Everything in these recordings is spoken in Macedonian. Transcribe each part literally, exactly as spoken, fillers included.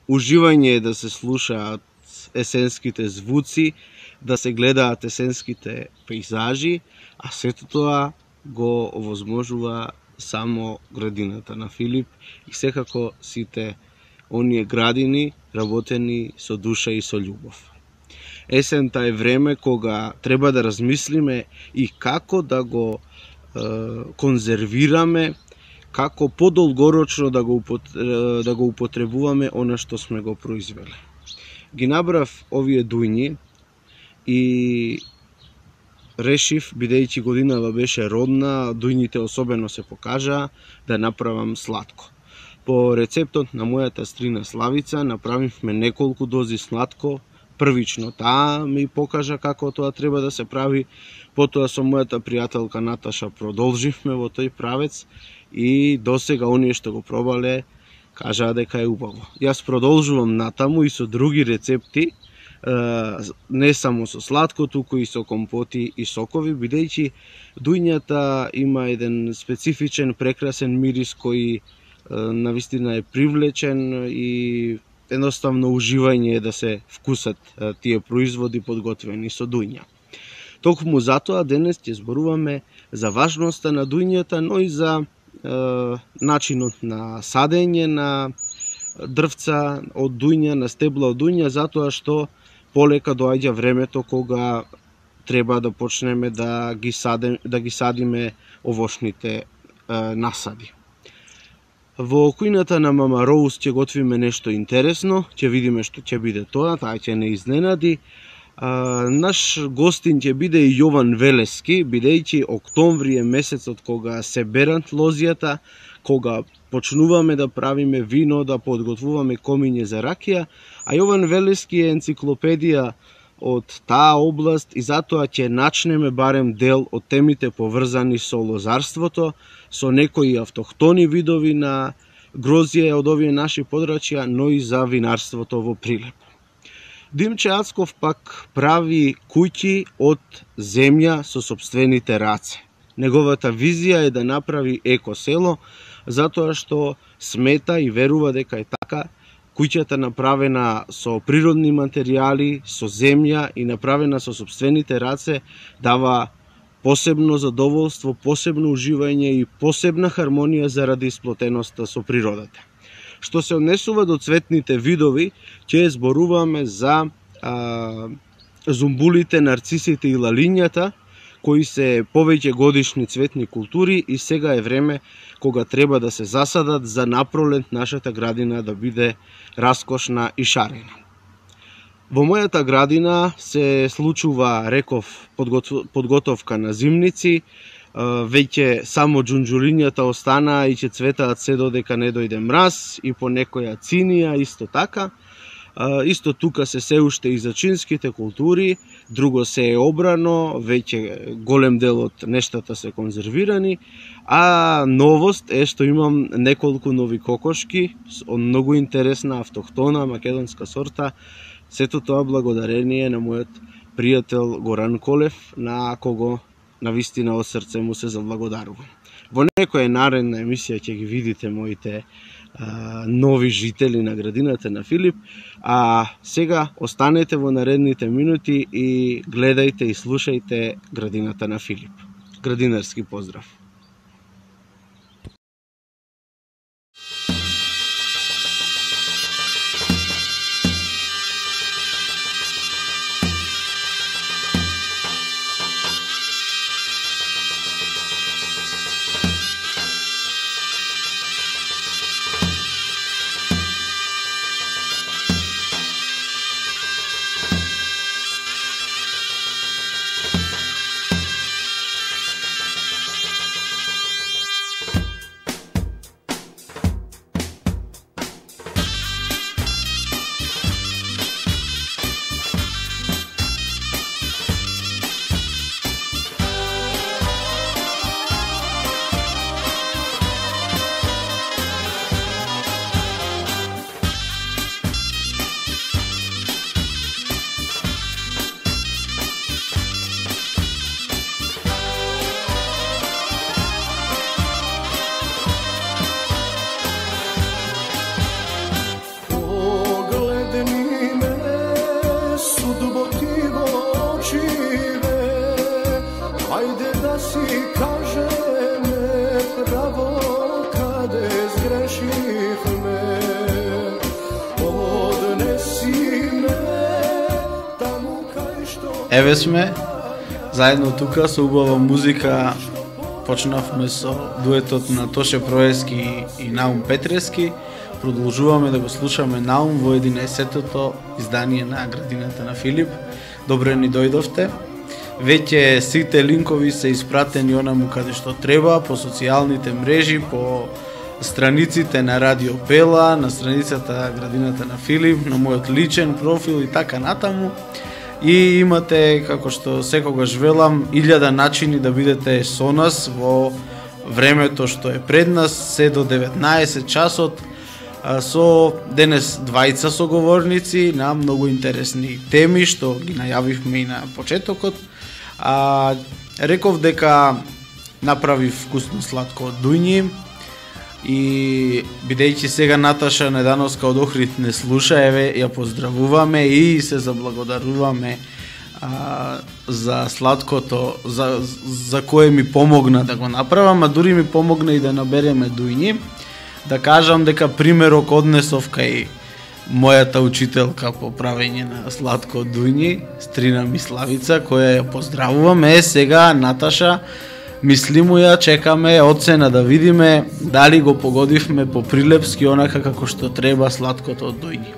уживање е да се слушаат есенските звуци, да се гледаат есенските пейзажи, а сето тоа го овозможува само градината на Филип и секако сите оние градини работени со душа и со љубов. Есента е време кога треба да размислиме и како да го е, конзервираме, како подолгорочно да го, да го употребуваме она што сме го произвели. Ги набрав овие дујни и решив, бидејќи годинава беше родна, дујните особено се покажаа, да направам сладко. По рецептот на мојата стрина Славица направивме неколку дози сладко. Првично таа ми покажа како тоа треба да се прави, потоа со мојата пријателка Наташа продолживме во тој правец и досега оние што го пробале кажаа дека е убаво. Јас продолжувам натаму и со други рецепти, не само со сладко, туку и со компоти и сокови, бидејќи дујњата има еден специфичен прекрасен мирис кој навистина е привлечен и едноставно уживање е да се вкусат тие производи подготвени со дујња. Токму затоа денес ќе зборуваме за важноста на дујњата, но и за е, начинот на садење на дрвца од дујња, на стебла од дујња, затоа што полека доаѓа времето кога треба да почнеме да ги садим, да ги садиме овошните е, насади. Во кујната на Мама Роуз ќе готвиме нешто интересно, ќе видиме што ќе биде тоа, таа ќе не изненади. А, наш гостин ќе биде и Јован Велески, бидејќи октомври е месецот кога се берат лозјата, кога почнуваме да правиме вино, да подготвуваме комиње за ракија, а Јован Велески е енциклопедија од таа област и затоа ќе начнеме барем дел од темите поврзани со лозарството, со некои автохтони видови на грозје од овие наши подрачја, но и за винарството во Прилеп. Димче Ацков пак прави куќи од земја со сопствените раце. Неговата визија е да направи екосело, затоа што смета и верува дека е така. Куќата направена со природни материјали, со земја и направена со сопствените раце дава посебно задоволство, посебно уживање и посебна хармонија заради сплотеноста со природата. Што се однесува до цветните видови, ќе зборуваме за а, зумбулите, нарцисите и лалињата, кои се повеќе годишни цветни култури и сега е време кога треба да се засадат за напролет нашата градина да биде раскошна и шарена. Во мојата градина се случува, реков, подготовка на зимници, веќе само џунџулињата останаа и ќе цветаат се додека не дојде мраз и по некоја цинија исто така. Исто тука се се уште и зачинските култури, друго се е обрано, веќе голем дел од нештата се конзервирани, а новост е што имам неколку нови кокошки од многу интересна автохтона македонска сорта, сето тоа благодарение на мојот пријател Горан Колев, на кого навистина од срце му се заблагодарувам. Во некоја наредна емисија ќе ги видите моите а, нови жители на градината на Филип, а сега останете во наредните минути и гледајте и слушајте градината на Филип. Градинарски поздрав! Еве сме, заедно тука со убава музика. Почнавме со дуетот на Тоше Проески и Наум Петрески. Продолжуваме да го слушаме Наум во единаесеттото издание на Градината на Филип. Добре ни дојдовте. Веќе сите линкови се испратени онаму каде што треба, по социјалните мрежи, по страниците на Радио Бела, на страницата Градината на Филип, на мојот личен профил и така натаму. И имате, како што секогаш велам, илјада начини да бидете со нас во времето што е пред нас, се до деветнаесет часот, со денес двајца соговорници на многу интересни теми што ги најавивме и на почетокот. А, реков дека направив вкусно сладко од дујни и бидејќи сега Наташа Недановска од Охрид не слуша, еве ја поздравуваме и се заблагодаруваме а, за сладкото за, за кое ми помогна да го направам, а дури ми помогна и да набереме дујни. Да кажам дека примерок однесов кај мојата учителка по правење на сладко од дујни, Стрина Миславица, која ја поздравуваме. Е, сега Наташа, мислимо ја, чекаме оцена да видиме дали го погодивме по прилепски онака како што треба сладкото од дујни.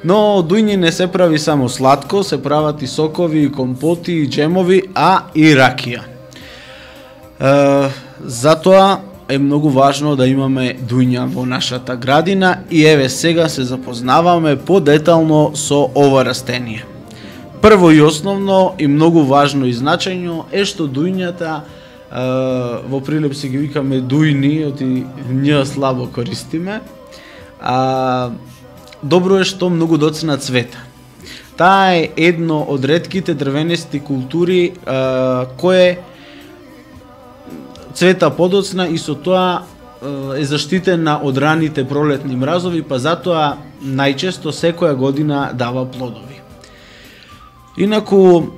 Но од дујни не се прави само сладко, се прават и сокови, и компоти, и джемови, а и ракија. Е, затоа е многу важно да имаме дујња во нашата градина и еве сега се запознаваме подетално со ова растение. Прво и основно и многу важно и значајно е што дујњата во прилепси ги викаме дујни, оти њ слабо користиме. А, добро е што многу доцна цвета. Таа е едно од ретките дрвенести култури а, кое цвета подоцна и со тоа е заштитена од раните пролетни мразови, па затоа најчесто секоја година дава плодови. Инаку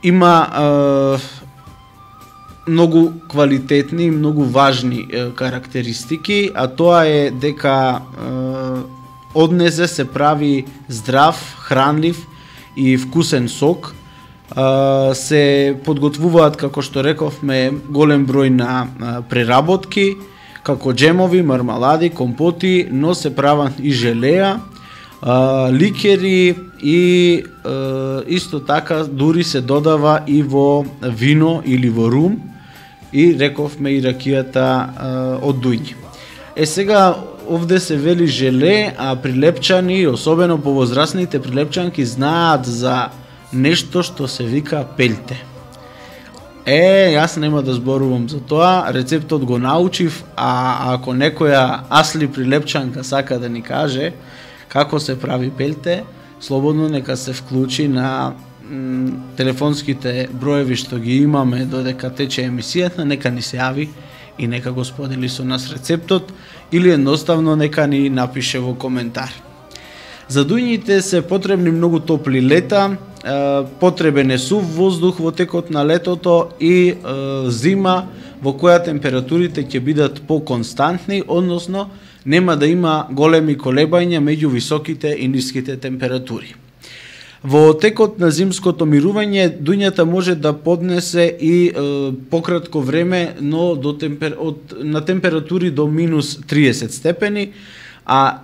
има е, многу квалитетни и многу важни е, карактеристики, а тоа е дека е, од незе се прави здрав, хранлив и вкусен сок. Uh, се подготвуваат, како што рековме, голем број на uh, преработки, како джемови, мармалади, компоти, но се прават и желеа, uh, ликери и uh, исто така дури се додава и во вино или во рум и рековме и ракијата uh, од дујни. Е сега овде се вели желе, а прилепчани, особено повозрасните прилепчанки, знаат за нешто што се вика пелте. Е, јас нема да зборувам за тоа, рецептот го научив, а ако некоја асли прилепчанка сака да ни каже како се прави пелте, слободно нека се вклучи на м, телефонските броеви што ги имаме додека тече емисијата, нека ни се јави и нека го сподели со нас рецептот или едноставно нека ни напише во коментар. За дујните се потребни многу топли лета, потребен е сув воздух во текот на летото и е, зима во која температурите ќе бидат поконстантни, односно нема да има големи колебања меѓу високите и ниските температури. Во текот на зимското мирување дуњата може да поднесе и е, пократко време, но до темпер... од, на температури до минус триесет степени, а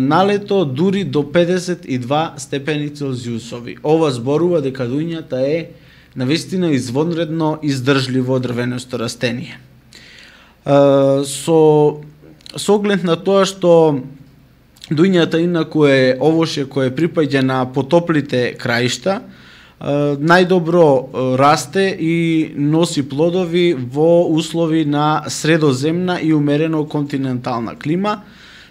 налето дури до педесет и два степени Целзиусови. Ова зборува дека дуњата е навистина извонредно издржливо дрвенесто растение. Со, со оглед на тоа што дуњата инаку е овоше кое припаѓа на потоплите краишта, најдобро расте и носи плодови во услови на средоземна и умерено континентална клима,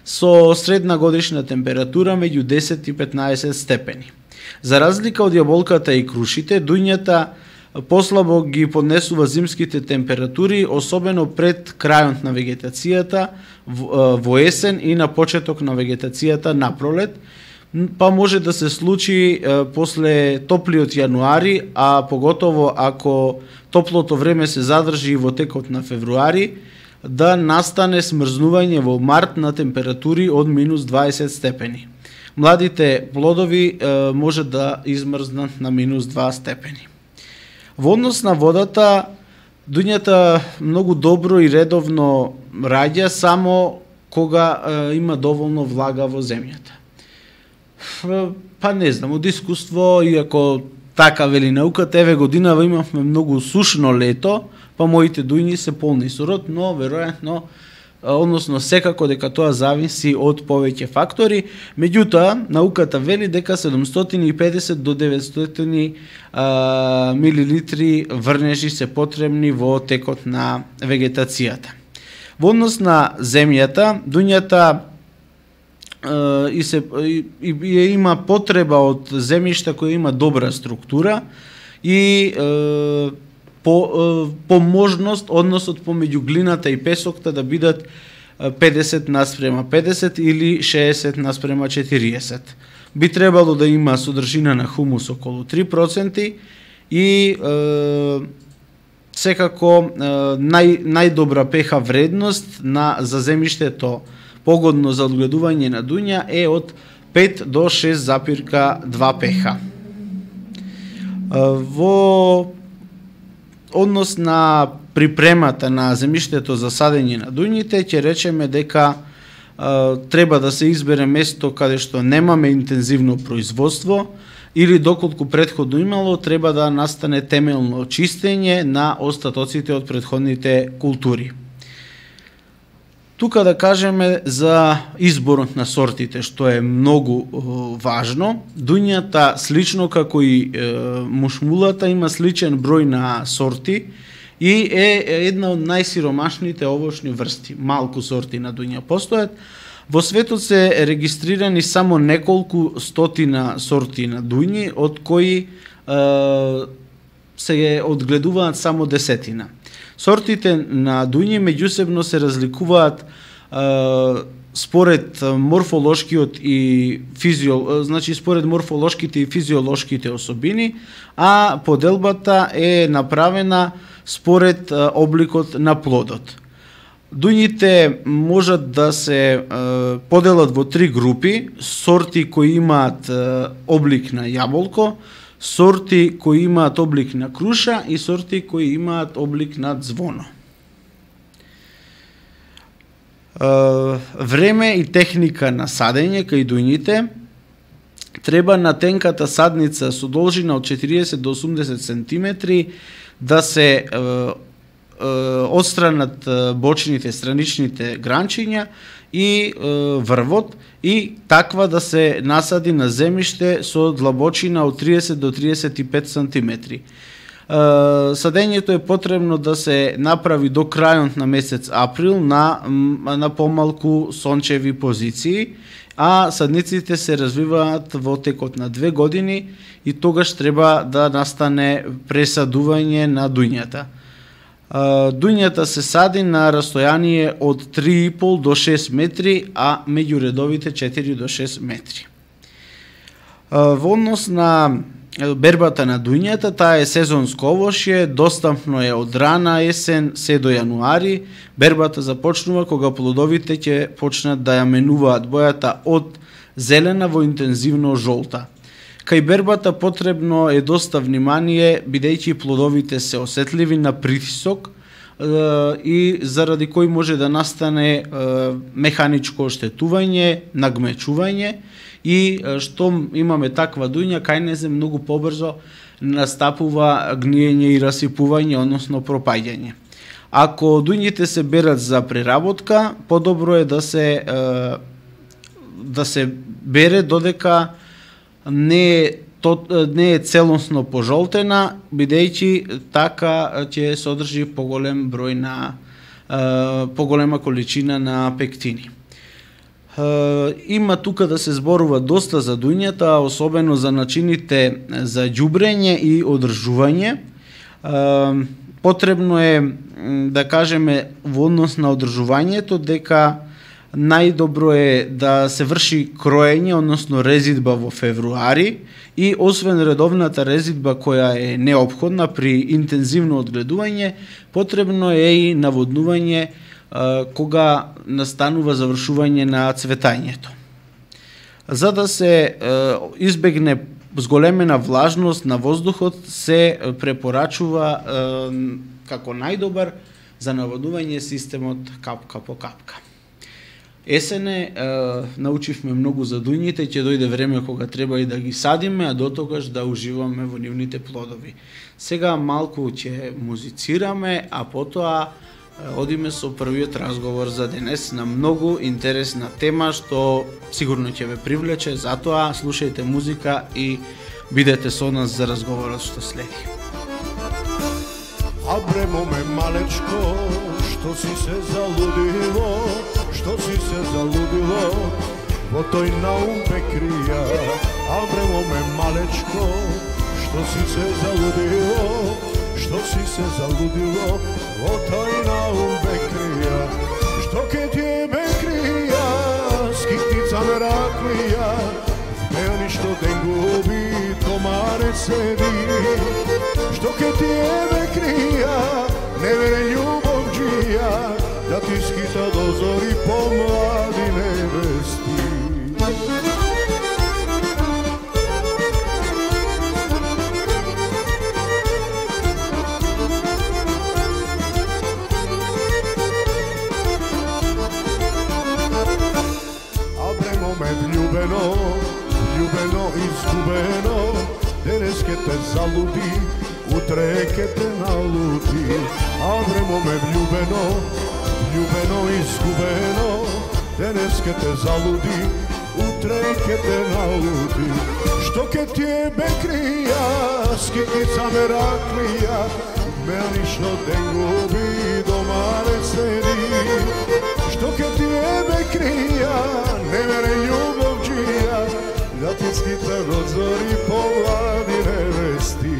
со средна годишна температура меѓу десет и петнаесет степени. За разлика од јаболката и крушите, дуњата послабо ги поднесува зимските температури, особено пред крајот на вегетацијата во есен и на почеток на вегетацијата на пролет, па може да се случи после топлиот јануари, а поготово ако топлото време се задржи во текот на февруари, да настане смрзнување во март на температури од минус дваесет степени. младите плодови е, може да измрзнат на минус два степени. Во однос на водата, дуњата многу добро и редовно раѓа само кога е, има доволно влага во земјата. Па не знам, од искуство, иако така вели науката, еве годинава имавме многу сушно лето, па моите дујни се полни со род, но веројатно, односно секако дека тоа зависи од повеќе фактори. Меѓутоа, науката вели дека седумстотини и педесет до деветстотини а, милилитри врнежи се потребни во текот на вегетацијата. Во однос на земјата, дуњата и се и, и има потреба од земјишта која има добра структура и е, по е, по можност односот помеѓу глината и песокта да бидат педесет наспрема педесет или шеесет наспрема четириесет. Би требало да има содржина на хумус околу три проценти и е, секако е, нај најдобра пеха вредност на за земјиштето погодно за одгледување на дуња е од пет до шест запирка два пеха. Во однос на припремата на земјиштето за садење на дуњите, ќе речеме дека а, треба да се избере место каде што немаме интензивно производство или доколку претходно имало, треба да настане темелно чистење на остатоците од претходните култури. Тука да кажеме за изборот на сортите, што е многу е, важно. Дуњата, слично како и е, мушмулата, има сличен број на сорти и е една од најсиромашните овошни врсти. Малку сорти на дуња постојат. Во светот се регистрирани само неколку стотина сорти на дуњи, од кои е, се одгледуваат само десетина. Сортите на дуњи меѓусебно се разликуваат е, според морфолошкиот и физио, значи според морфолошките и физиолошките особини, а поделбата е направена според е, обликот на плодот. Дуњите можат да се е, поделат во три групи: сорти кои имаат е, облик на јаболко, сорти кои имаат облик на круша и сорти кои имаат облик на звоно. Време и техника на садење кај дуњите: треба на тенката садница со должина од четириесет до осумдесет сантиметри да се отстранат бочните, страничните гранчиња и врвот, и таква да се насади на земјиште со длабочина од триесет до триесет и пет сантиметри. Садењето е потребно да се направи до крајот на месец април на, на помалку сончеви позиции, а садниците се развиваат во текот на две години и тогаш треба да настане пресадување на дуњата. Дуњата се сади на растојание од три и пол до шест метри, а меѓу редовите четири до шест метри. Во однос на бербата на дуњата, таа е сезонско овошје, достапно е од рана есен се до јануари. Бербата започнува кога плодовите ќе почнат да ја менуваат бојата од зелена во интензивно жолта. Кај бербата потребно е доста внимание, бидејќи плодовите се осетливи на притисок е, и заради кој може да настане е, механичко оштетување, нагмечување, и е, што имаме таква дуња, кај незе многу побрзо настапува гниење и расипување, односно пропаѓање. Ако дуњите се берат за преработка, подобро е да се е, да се бере додека не е, то, не е целосно пожолтена, бидејќи така ќе содржи поголем број на е, поголема количина на пектини. Е, има тука да се зборува доста за дуњата, особено за начините за ѓубрење и одржување. Е, потребно е да кажеме во однос на одржувањето дека најдобро е да се врши кроење, односно резидба во февруари, и освен редовната резидба која е неопходна при интензивно одгледување, потребно е и наводнување а, кога настанува завршување на цветањето. за да се избегне зголемена влажност на воздухот, се препорачува како најдобар за наводување системот капка по капка. Есене научивме многу за дуњите, ќе дојде време кога треба и да ги садиме, а дотогаш да уживаме во нивните плодови. Сега малку ќе музицираме, а потоа одиме со првиот разговор за денес на многу интересна тема што сигурно ќе ве привлече, затоа слушајте музика и бидете со нас за разговорот што следи. Абремо ме малечко, што си се залудило, што си се залудило, во тој наум ме крија. Абремо ме малечко, што си се залудило, што си се залудило, во тој наум ме крија. Што ке ти ме крија, скитница ме раклија, ме ништо ден губи, томаре седи. Што ке ти ме крија, не вере љубовџија, да ти скита до зори по млади невести. Абремо ме влюбено, влюбено изгубено, денес ке те залуди, утре ке те налуди. Абремо ме влюбено, влюбено изгубено, денес ке те залуди, утре ке те налуди. Што ке ти ме крија, скитница ме раклија, ме ништо ден губи, домаре седи. Што ке ти ме крија, не вере љубовџија, да ти скита до зори по млади невести.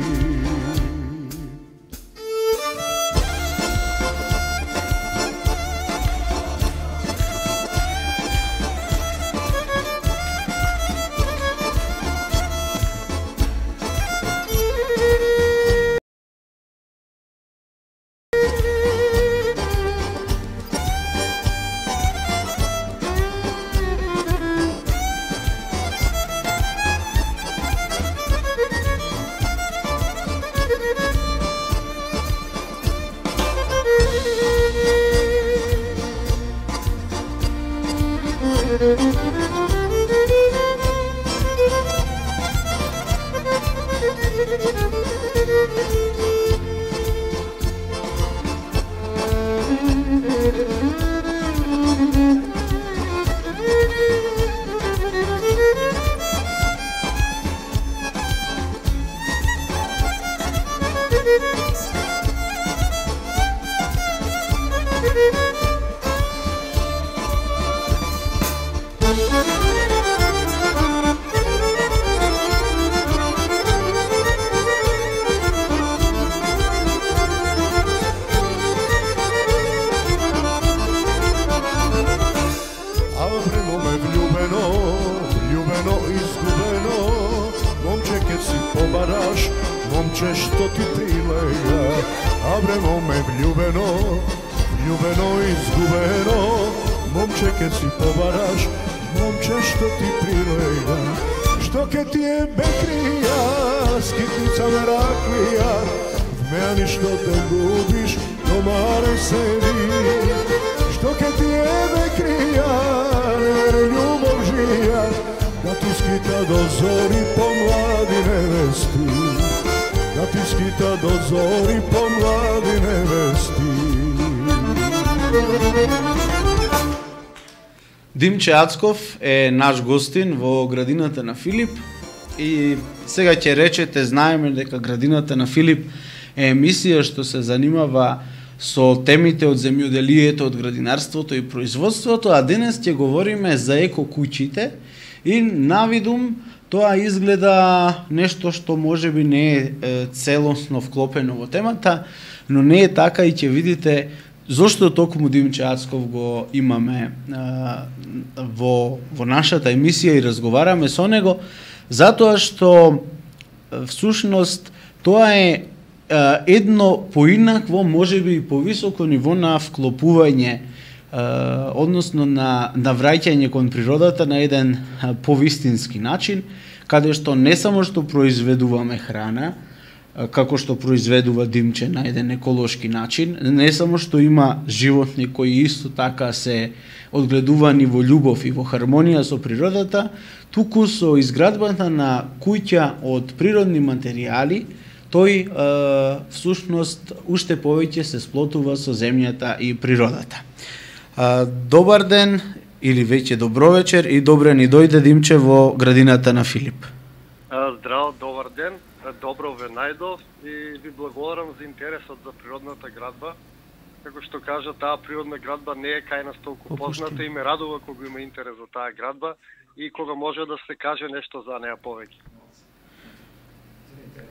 Момче што ти прилега, абремо ме влюбено, влюбено изгубено, момче ке си побараш, момче што ти прилега. Што ке ти е бекрија, скитница ме раклија, вмеа ништо те губиш, домаре седи. Што ке ти е бекрија, не вере љубовџија, да ти скита до зори по млади невести. Да ти скита до зори по млади невести. Димче Ацков е наш гостин во градината на Филип и сега ќе речете, знаеме дека градината на Филип е емисија што се занимава со темите од земјоделието, од градинарството и производството, а денес ќе говориме за еко куќите и навидум тоа изгледа нешто што можеби не е целосно вклопено во темата, но не е така и ќе видите зошто токму Димче Ацков го имаме а, во, во нашата емисија и разговараме со него, затоа што всушност тоа е а, едно поинакво, можеби и повисоко ниво на вклопување односно на, на враќање кон природата на еден повистински начин, каде што не само што произведуваме храна, како што произведува Димче на еден еколошки начин, не само што има животни кои исто така се одгледувани во љубов и во хармонија со природата, туку со изградбата на куќа од природни материјали, тој е, всушност уште повеќе се сплотува со земјата и природата. Е, добар ден или веќе добро вечер и добре ни дојде Димче во градината на Филип. Здраво, добар ден, добро ве најдов и ви благодарам за интересот за природната градба. Како што кажа, таа природна градба не е кај нас толку позната и ме радува кога има интерес за таа градба и кога може да се каже нешто за неа повеќе.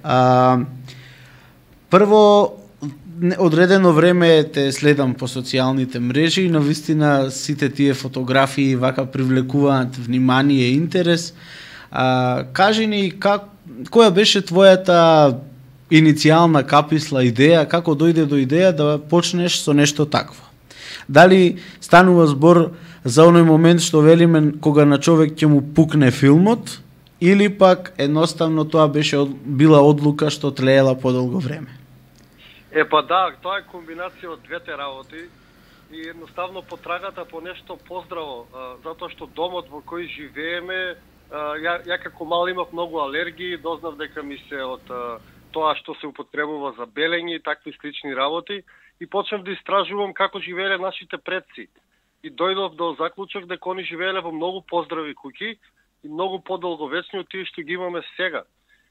А, прво, одредено време те следам по социјалните мрежи и навистина сите тие фотографии вака привлекуваат внимание и интерес. А, кажи ни, как, која беше твојата иницијална каписла идеја, како дојде до идеја да почнеш со нешто такво? Дали станува збор за оној момент што велиме кога на човек ќе му пукне филмот, или пак едноставно тоа беше била одлука што тлеела подолго време? Е па да, тоа е комбинација од двете работи и едноставно потрагата по нешто поздраво, затоа што домот во кој живееме, ја, ја како мал имав многу алергии, дознав дека ми се од тоа што се употребува за белење и такви слични работи и почнав да истражувам како живееле нашите предци. И дојдов до заклучок дека они живееле во многу поздрави куќи и многу подолговечни од тие што ги имаме сега.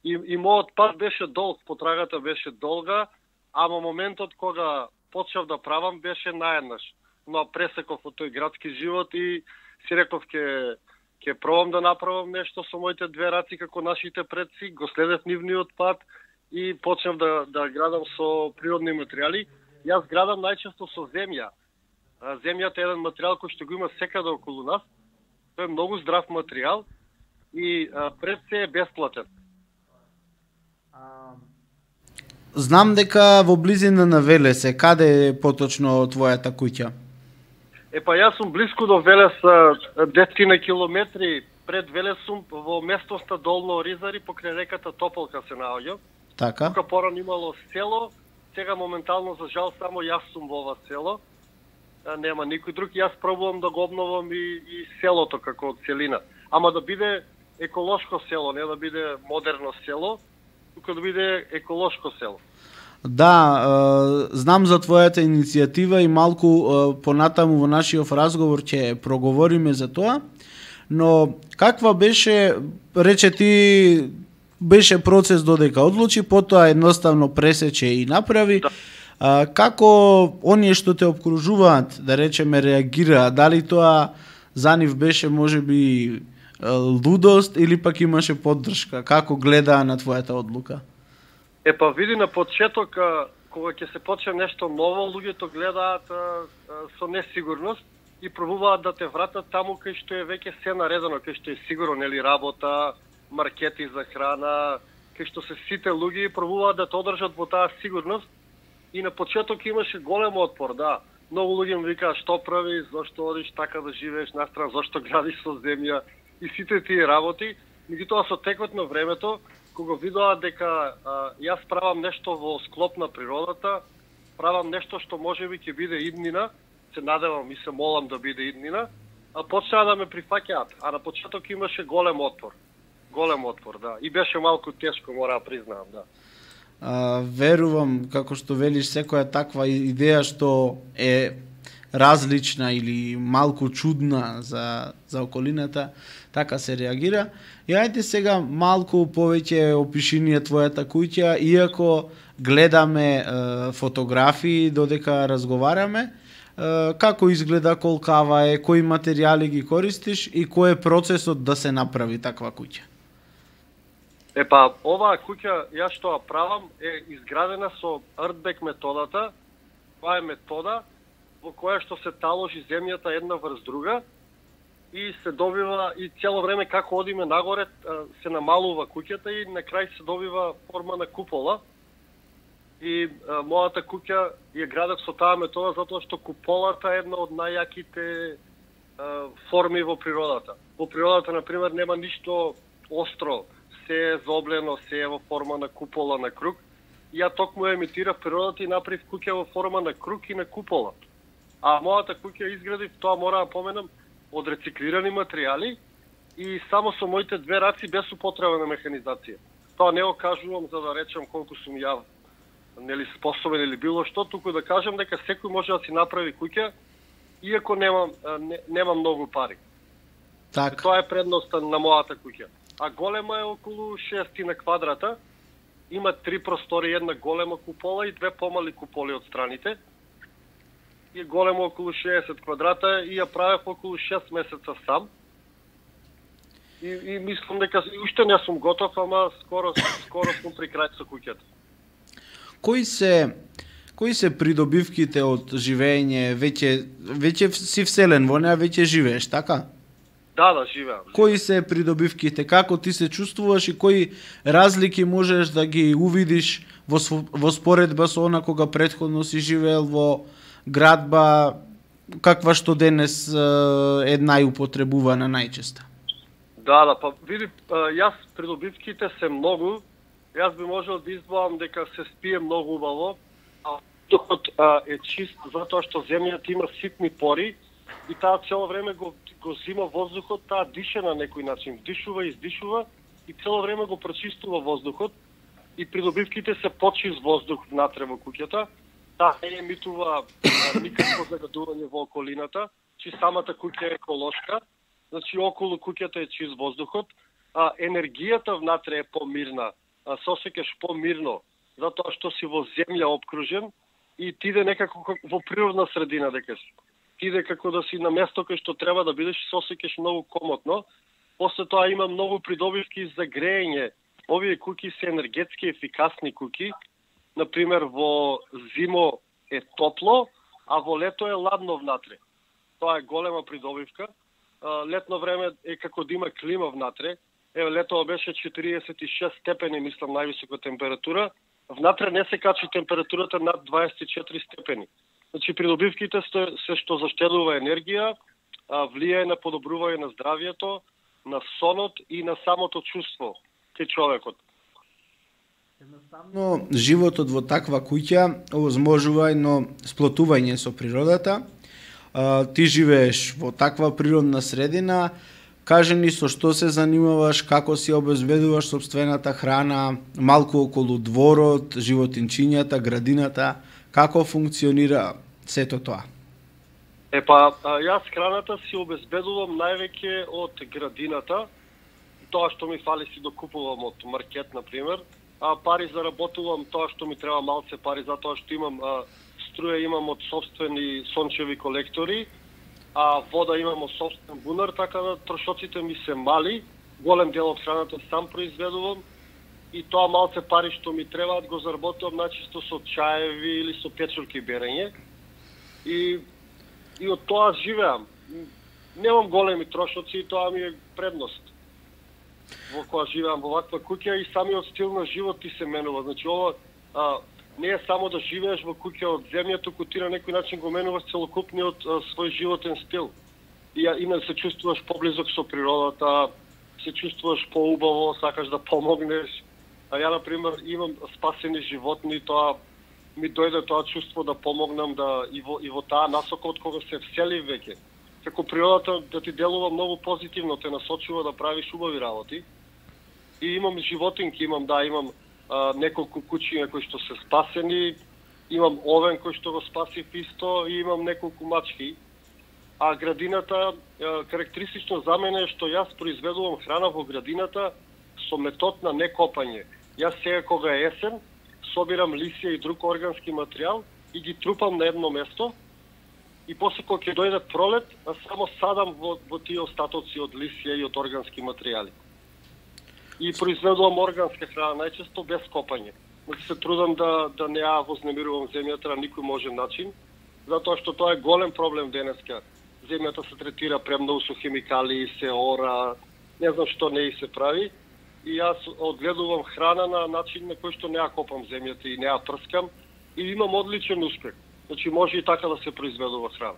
И, и мојот пат беше долг, потрагата беше долга, ама моментот кога почнав да правам беше наеднаш. Но пресеков од тој градски живот и си реков ке ќе пробам да направам нешто со моите две раци како нашите предци, го следев нивниот пат и почнав да да градам со природни материјали. Јас градам најчесто со земја. Земјата е еден материјал кој што го има секаде околу нас. Тој е многу здрав материјал и пред се е бесплатен. Знам дека во близина на Велес, каде е поточно твојата куќа? Е па јас сум блиску до Велес, десет километри пред Велес сум во местноста Долно Оризари, покрај реката Тополка се наоѓам. Така. Тука порано имало село, сега моментално за жал само јас сум во ова село. Нема никој друг, јас пробувам да го обновам и, и селото како целина. Ама да биде еколошко село, не да биде модерно село, тука да биде еколошко село. Да, знам за твојата иницијатива и малку понатаму во нашиот разговор ќе проговориме за тоа, но каква беше, рече ти, беше процес додека одлучи, потоа едноставно пресече и направи. Да. А, како оние што те обкружуваат, да речеме, реагира, дали тоа за нив беше можеби лудост или пак имаше поддршка? Како гледаа на твојата одлука? Е па види, на почеток, кога ќе се почне нешто ново, луѓето гледаат а, а, со несигурност и пробуваат да те вратат таму кај што е веќе се наредено, кај што е сигурно, нели, работа, маркети за храна, кај што се сите луѓе пробуваат да те одржат во таа сигурност. И на почеток имаше голем отпор, да. Многу луѓе ми викаа што прави, зошто одиш така да живееш настрана, зошто градиш со земја и сите тие работи. Меѓутоа со текот на времето, кога видоа дека а, јас правам нешто во склоп на природата, правам нешто што можеби ќе биде иднина, се надевам и се молам да биде иднина, а почнаа да ме прифаќаат. А на почеток имаше голем отпор. Голем отпор, да. И беше малку тешко, мора да признаам, да. А, верувам, како што велиш, секоја таква идеја што е различна или малку чудна за, за околината, така се реагира. И ајде сега малку повеќе опиши ни твојата куќа, иако гледаме е, фотографии додека разговараме, е, како изгледа, колкава е, кои материјали ги користиш и кој е процесот да се направи таква куќа? Е па, оваа куќа, јас што ја правам, е изградена со Earthback методата. Това е метода во која што се таложи земјата една врз друга и се добива, и цело време како одиме нагоре, се намалува куќата и на крај се добива форма на купола. И а, мојата куќа ја градев со таа метода затоа што куполата е една од најаките а, форми во природата. Во природата, например, нема ништо остро, се е заоблено, се е во форма на купола, на круг. И ја токму ја емитирав природата и направив куќа во форма на круг и на купола. А мојата куќа изградив, тоа мора да поменам, од рециклирани материјали и само со моите две раци без употреба на механизација. Тоа не го кажувам за да речам колку сум ја нели способен или било што, туку да кажам дека секој може да си направи куќа иако нема не, нема многу пари. Така. Тоа е предноста на мојата куќа. А голема е околу шест на квадрата. Има три простори, една голема купола и две помали куполи од страните. И големо околу шеесет квадрата и ја правев околу шест месеца сам. И, и мислам дека уште не сум готов, ама скоро скоро сум при крај со куќата. Кои се кои се придобивките од живење, веќе веќе си вселен во неа, веќе живееш, така? Да, да, живеам. Кои се придобивките, како ти се чувствуваш и кои разлики можеш да ги увидиш во, во споредба со она кога претходно си живеел во градба, каква што денес е најупотребувана најчесто? Да, да, па види, јас придобивките се многу. Јас би можел да избавам дека се спие многу убаво, а воздухот е чист затоа што земјата има ситни пори и таа цело време го го зима воздухот, таа дише на некој начин, вдишува и издишува и цело време го прочистува воздухот и придобивките се почист воздух внатре во куќата. Таа не емитува никакво загадување во околината, че самата куќа е еколошка, значи околу куќата е чист воздухот, а енергијата внатре е помирна, а се осеќаш помирно, затоа што си во земја обкружен и ти иде некако во природна средина дека си. Ти иде како да си на место кај што треба да бидеш, се осеќаш многу комотно. После тоа има многу придобивки за греење. Овие куќи се енергетски ефикасни куќи. Например, во зимо е топло, а во лето е ладно внатре. Тоа е голема придобивка. Летно време е како да има клима внатре. Еве, летово беше четириесет и шест степени, мислам, највисока температура. Внатре не се качи температурата над дваесет и четири степени. Значи, придобивките се што заштедува енергија, влијае на подобрување на здравието, на сонот и на самото чувство кај човекот. Едноставно, животот во таква куќа овозможува едно сплотување со природата. А, ти живееш во таква природна средина. Кажи ни со што се занимаваш, како си обезбедуваш сопствената храна, малку околу дворот, животинчињата, градината, како функционира сето тоа? Е па, јас храната си обезбедувам највеќе од градината. Тоа што ми фали си докупувам од маркет, например. А пари заработувам тоа што ми треба малце пари, затоа што имам а, струја имам од собствени сончеви колектори, а вода имам од собствен бунар, така да трошоците ми се мали, голем дел од храната сам произведувам и тоа малце пари што ми требаат го заработувам најчесто со чаеви или со печурки берење. И и од тоа живеам. Немам големи трошоци и тоа ми е предност. Во која живеам во ваква куќа и самиот стил на живот ти се менува. Значи ова а, не е само да живееш во куќа од земја, туку ти на некој начин го менуваш целокупниот а, свој животен стил. И име се чувствуваш поблизок со природата, се чувствуваш поубаво, сакаш да помогнеш. А ја, например, имам спасени животни, тоа ми дојде тоа чувство да помогнам да и во, и во таа насока од кога се всели веќе. Како природата да ти делува многу позитивно, те насочува да правиш убави работи. И имам животинки, имам да, имам а, неколку куќи кои што се спасени, имам овен кој што го спасив исто и имам неколку мачки. А градината, а, карактеристично за мене е што јас произведувам храна во градината со метод на некопање. Јас сега кога е есен, собирам лисија и друг органски материјал и ги трупам на едно место и после кога ќе дојде пролет, само садам во, во тие остатоци од лисија и од органски материјали. И произведувам органска храна, најчесто без копање. Значи се трудам да, да не ја вознемирувам земјата на никој можен начин, затоа што тоа е голем проблем денеска. Земјата се третира премногу со хемикали, се ора, не знам што не и се прави. и јас одгледувам храна на начин на кој што не ја копам земјата и не ја прскам и имам одличен успех. Значи може и така да се произведува храна.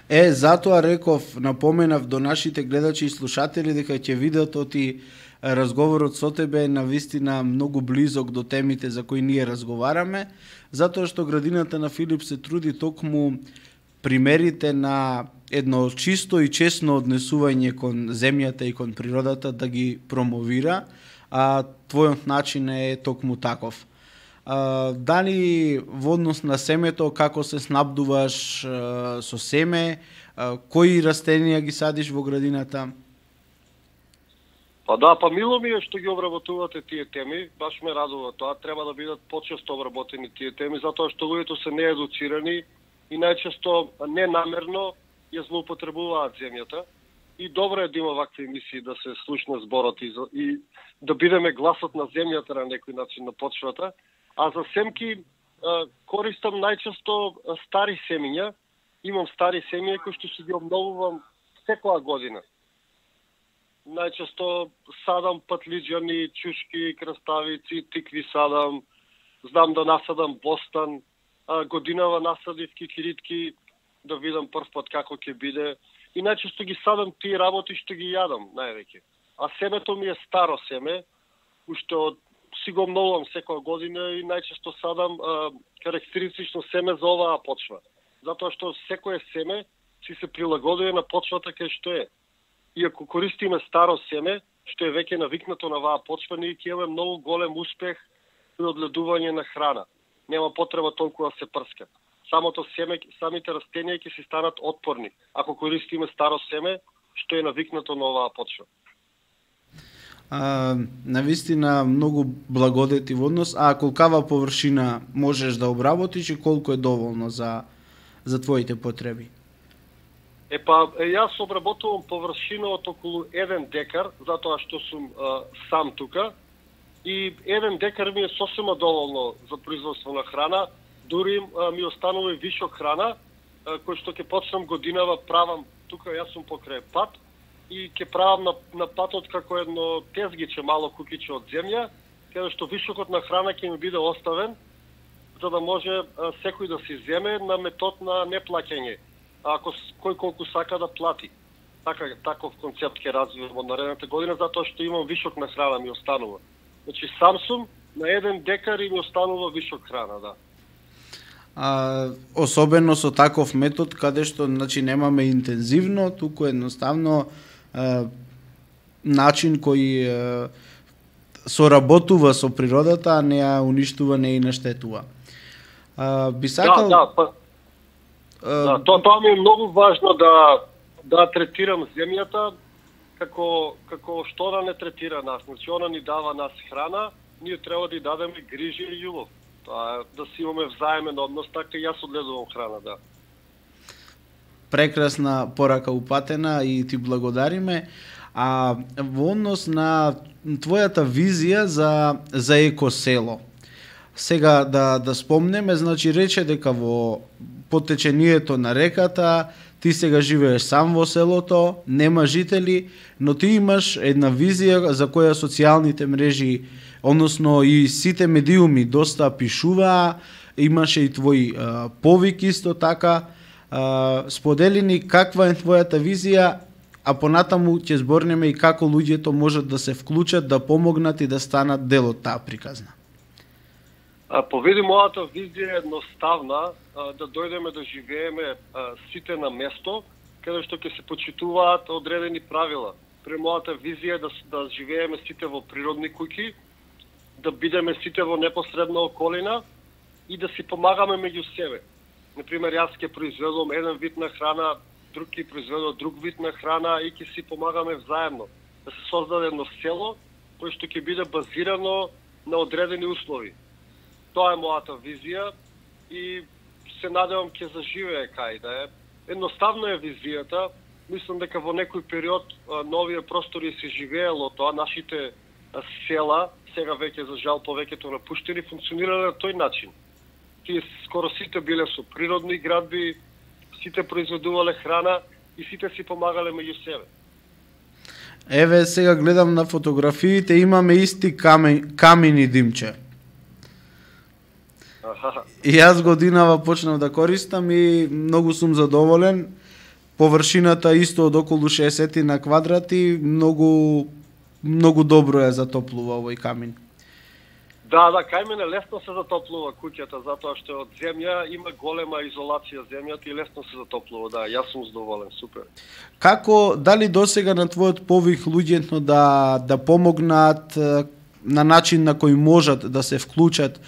Е, затоа реков, напоменав до нашите гледачи и слушатели дека ќе видат оти разговорот со тебе е навистина многу близок до темите за кои ние разговараме, затоа што градината на Филип се труди токму примерите на едно чисто и честно однесување кон земјата и кон природата да ги промовира, а твојот начин е токму таков. А, дали во однос на семето, како се снабдуваш а, со семе, а, кои растенија ги садиш во градината? Па да, па мило ми е што ги обработувате тие теми, баш ме радува тоа, треба да бидат почесто обработени тие теми, затоа што луѓето се неедуцирани и најчесто ненамерно ја злоупотребуваат земјата. И добро е да има вакви емисии, да се слушне зборот и, и да бидеме гласот на земјата на некој начин на почвата. А за семки користам најчесто стари семиња. Имам стари семиња кои што си ги обновувам секоја година. Најчесто садам патлиџани, чушки, краставици, тикви садам, знам да насадам бостан, годинава насадив кикиритки, да видам прв пат како ќе биде. И најчесто ги садам тие работи што ги јадам највеќе. А семето ми е старо семе, уште од си го обновувам секоја година и најчесто садам а, карактеристично семе за оваа почва. Затоа што секое семе си се прилагодува на почвата кај што е. И ако користиме старо семе, што е веќе навикнато на оваа почва, ние ќе имаме многу голем успех при одгледување на храна. Нема потреба толку да се прска. Самото семе, самите растенија ќе си станат отпорни, ако користиме старо семе, што е навикнато на оваа почва. А, навистина многу благодети во однос, а колкава површина можеш да обработиш и колку е доволно за, за твоите потреби? Е па, јас обработувам површина од околу еден декар, затоа што сум а, сам тука, и еден декар ми е сосема доволно за производство на храна, дури а, ми останува и вишок храна, а, кој што ќе почнам годинава правам, тука јас сум покрај пат, и ќе правам на, на патот како едно тезгиче, мало кукиче од земја, каде што вишокот на храна ќе ми биде оставен, за да може а, секој да си земе на метод на неплаќање, ако кој колку сака да плати. Така, таков концепт ќе развивам од наредната година, затоа што имам вишок на храна ми останува. Значи сам сум на еден декар и ми останува вишок храна, да. А, особено со таков метод, каде што значи немаме интензивно, туку едноставно а, начин кој а, соработува со природата, а не ја уништува, не ја наштетува. А, би сакал... Да, да, па... Да, тоа, тоа ми е многу важно да да третирам земјата како како што она не третира нас. Значи она ни дава нас храна, ние треба да ја дадеме грижи и љубов. Тоа да си имаме взаемен однос, така и јас одгледувам храна, да. Прекрасна порака упатена и ти благодариме. А во однос на твојата визија за за екосело. Сега да да спомнеме, значи рече дека во потечението на реката ти сега живееш сам во селото, нема жители, но ти имаш една визија за која социјалните мрежи, односно и сите медиуми доста пишуваа, имаше и твој а, повик исто така. А, сподели ни каква е твојата визија, а понатаму ќе зборнеме и како луѓето можат да се вклучат, да помогнат и да станат дел од таа приказна. Поведи мојата визија е едноставна, да дојдеме да живееме сите на место, каде што ќе се почитуваат одредени правила. При мојата визија е да, да живееме сите во природни куќи, да бидеме сите во непосредна околина и да си помагаме меѓу себе. Например, јас ќе произведувам еден вид на храна, друг ќе произведува друг вид на храна и ќе си помагаме взаемно. Да се создаде едно село, кој што ќе биде базирано на одредени услови. Тоа е мојата визија и се надевам ќе заживее кај да е. Едноставно е визијата. Мислам дека во некој период на овие простори се живеело тоа, нашите села, сега веќе за жал повеќето напуштени, функционирале на тој начин. Тие скоро сите биле со природни градби, сите произведувале храна и сите си помагале меѓу себе. Еве сега гледам на фотографиите, имаме исти камен, камени димче. И јас годинава почнав да користам и многу сум задоволен. Површината исто од околу шеесет на квадрати, многу многу добро е затоплува овој камин. Да, да, кај мене лесно се затоплува куќата, затоа што од земја има голема изолација земјата и лесно се затоплува, да, јас сум задоволен, супер. Како, дали досега на твојот повик луѓето да да помогнат на начин на кој можат да се вклучат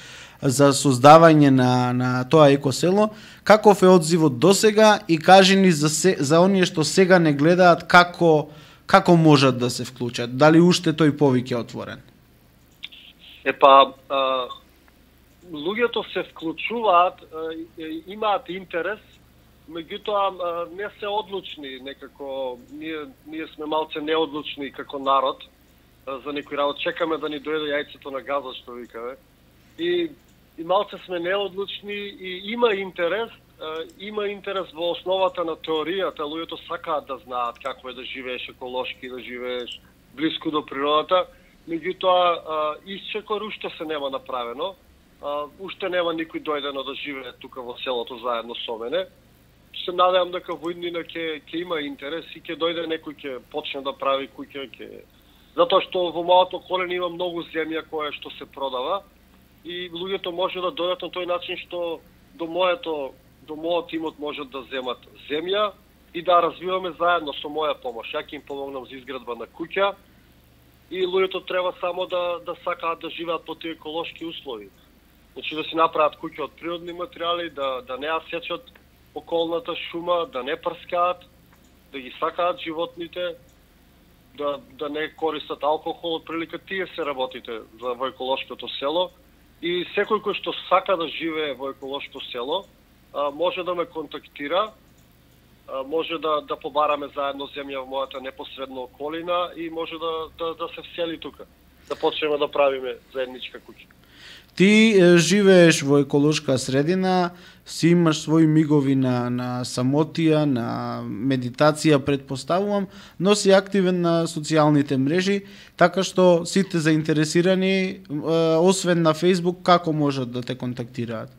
за создавање на на тоа екосело, каков е одзивот досега и кажи ни за се, за оние што сега не гледаат како како можат да се вклучат, дали уште тој повик е отворен? Епа, а, луѓето се вклучуваат, а, имаат интерес, меѓутоа не се одлучни некако, ние, ние сме малце неодлучни како народ а, за некој работ, чекаме да ни дојде јајцето на газот, што викаме. И, и малце сме неодлучни и има интерес, а, има интерес во основата на теоријата, луѓето сакаат да знаат како е да живееш еколошки, да живееш блиску до природата. Меѓутоа, исчекор уште се нема направено, а, уште нема никој дојдено да живее тука во селото заедно со мене. Се надевам дека во иднина ќе ќе има интерес и ќе дојде некој ќе почне да прави куќа, ќе затоа што во мојата околина има многу земја која што се продава и луѓето може да дојдат на тој начин што до моето до мојот имот можат да земат земја и да развиваме заедно со моја помош. Ја ќе им помогнам за изградба на куќа. И луѓето треба само да да сакаат да живеат по тие еколошки услови. Значи да си направат куќа од природни материјали, да да не ја сечат околната шума, да не прскаат, да ги сакаат животните, да да не користат алкохол, од прилика тие се работите за во еколошкото село. И секој кој што сака да живее во еколошко село, а, може да ме контактира. Може да да побараме заедно земја во мојата непосредна околина и може да да да се всели тука. Да почнеме да правиме заедничка куќа. Ти е, живееш во еколошка средина, си имаш своји мигови на на самотија, на медитација, предпоставувам, но си активен на социјалните мрежи, така што сите заинтересирани, е, освен на Facebook, како можат да те контактираат?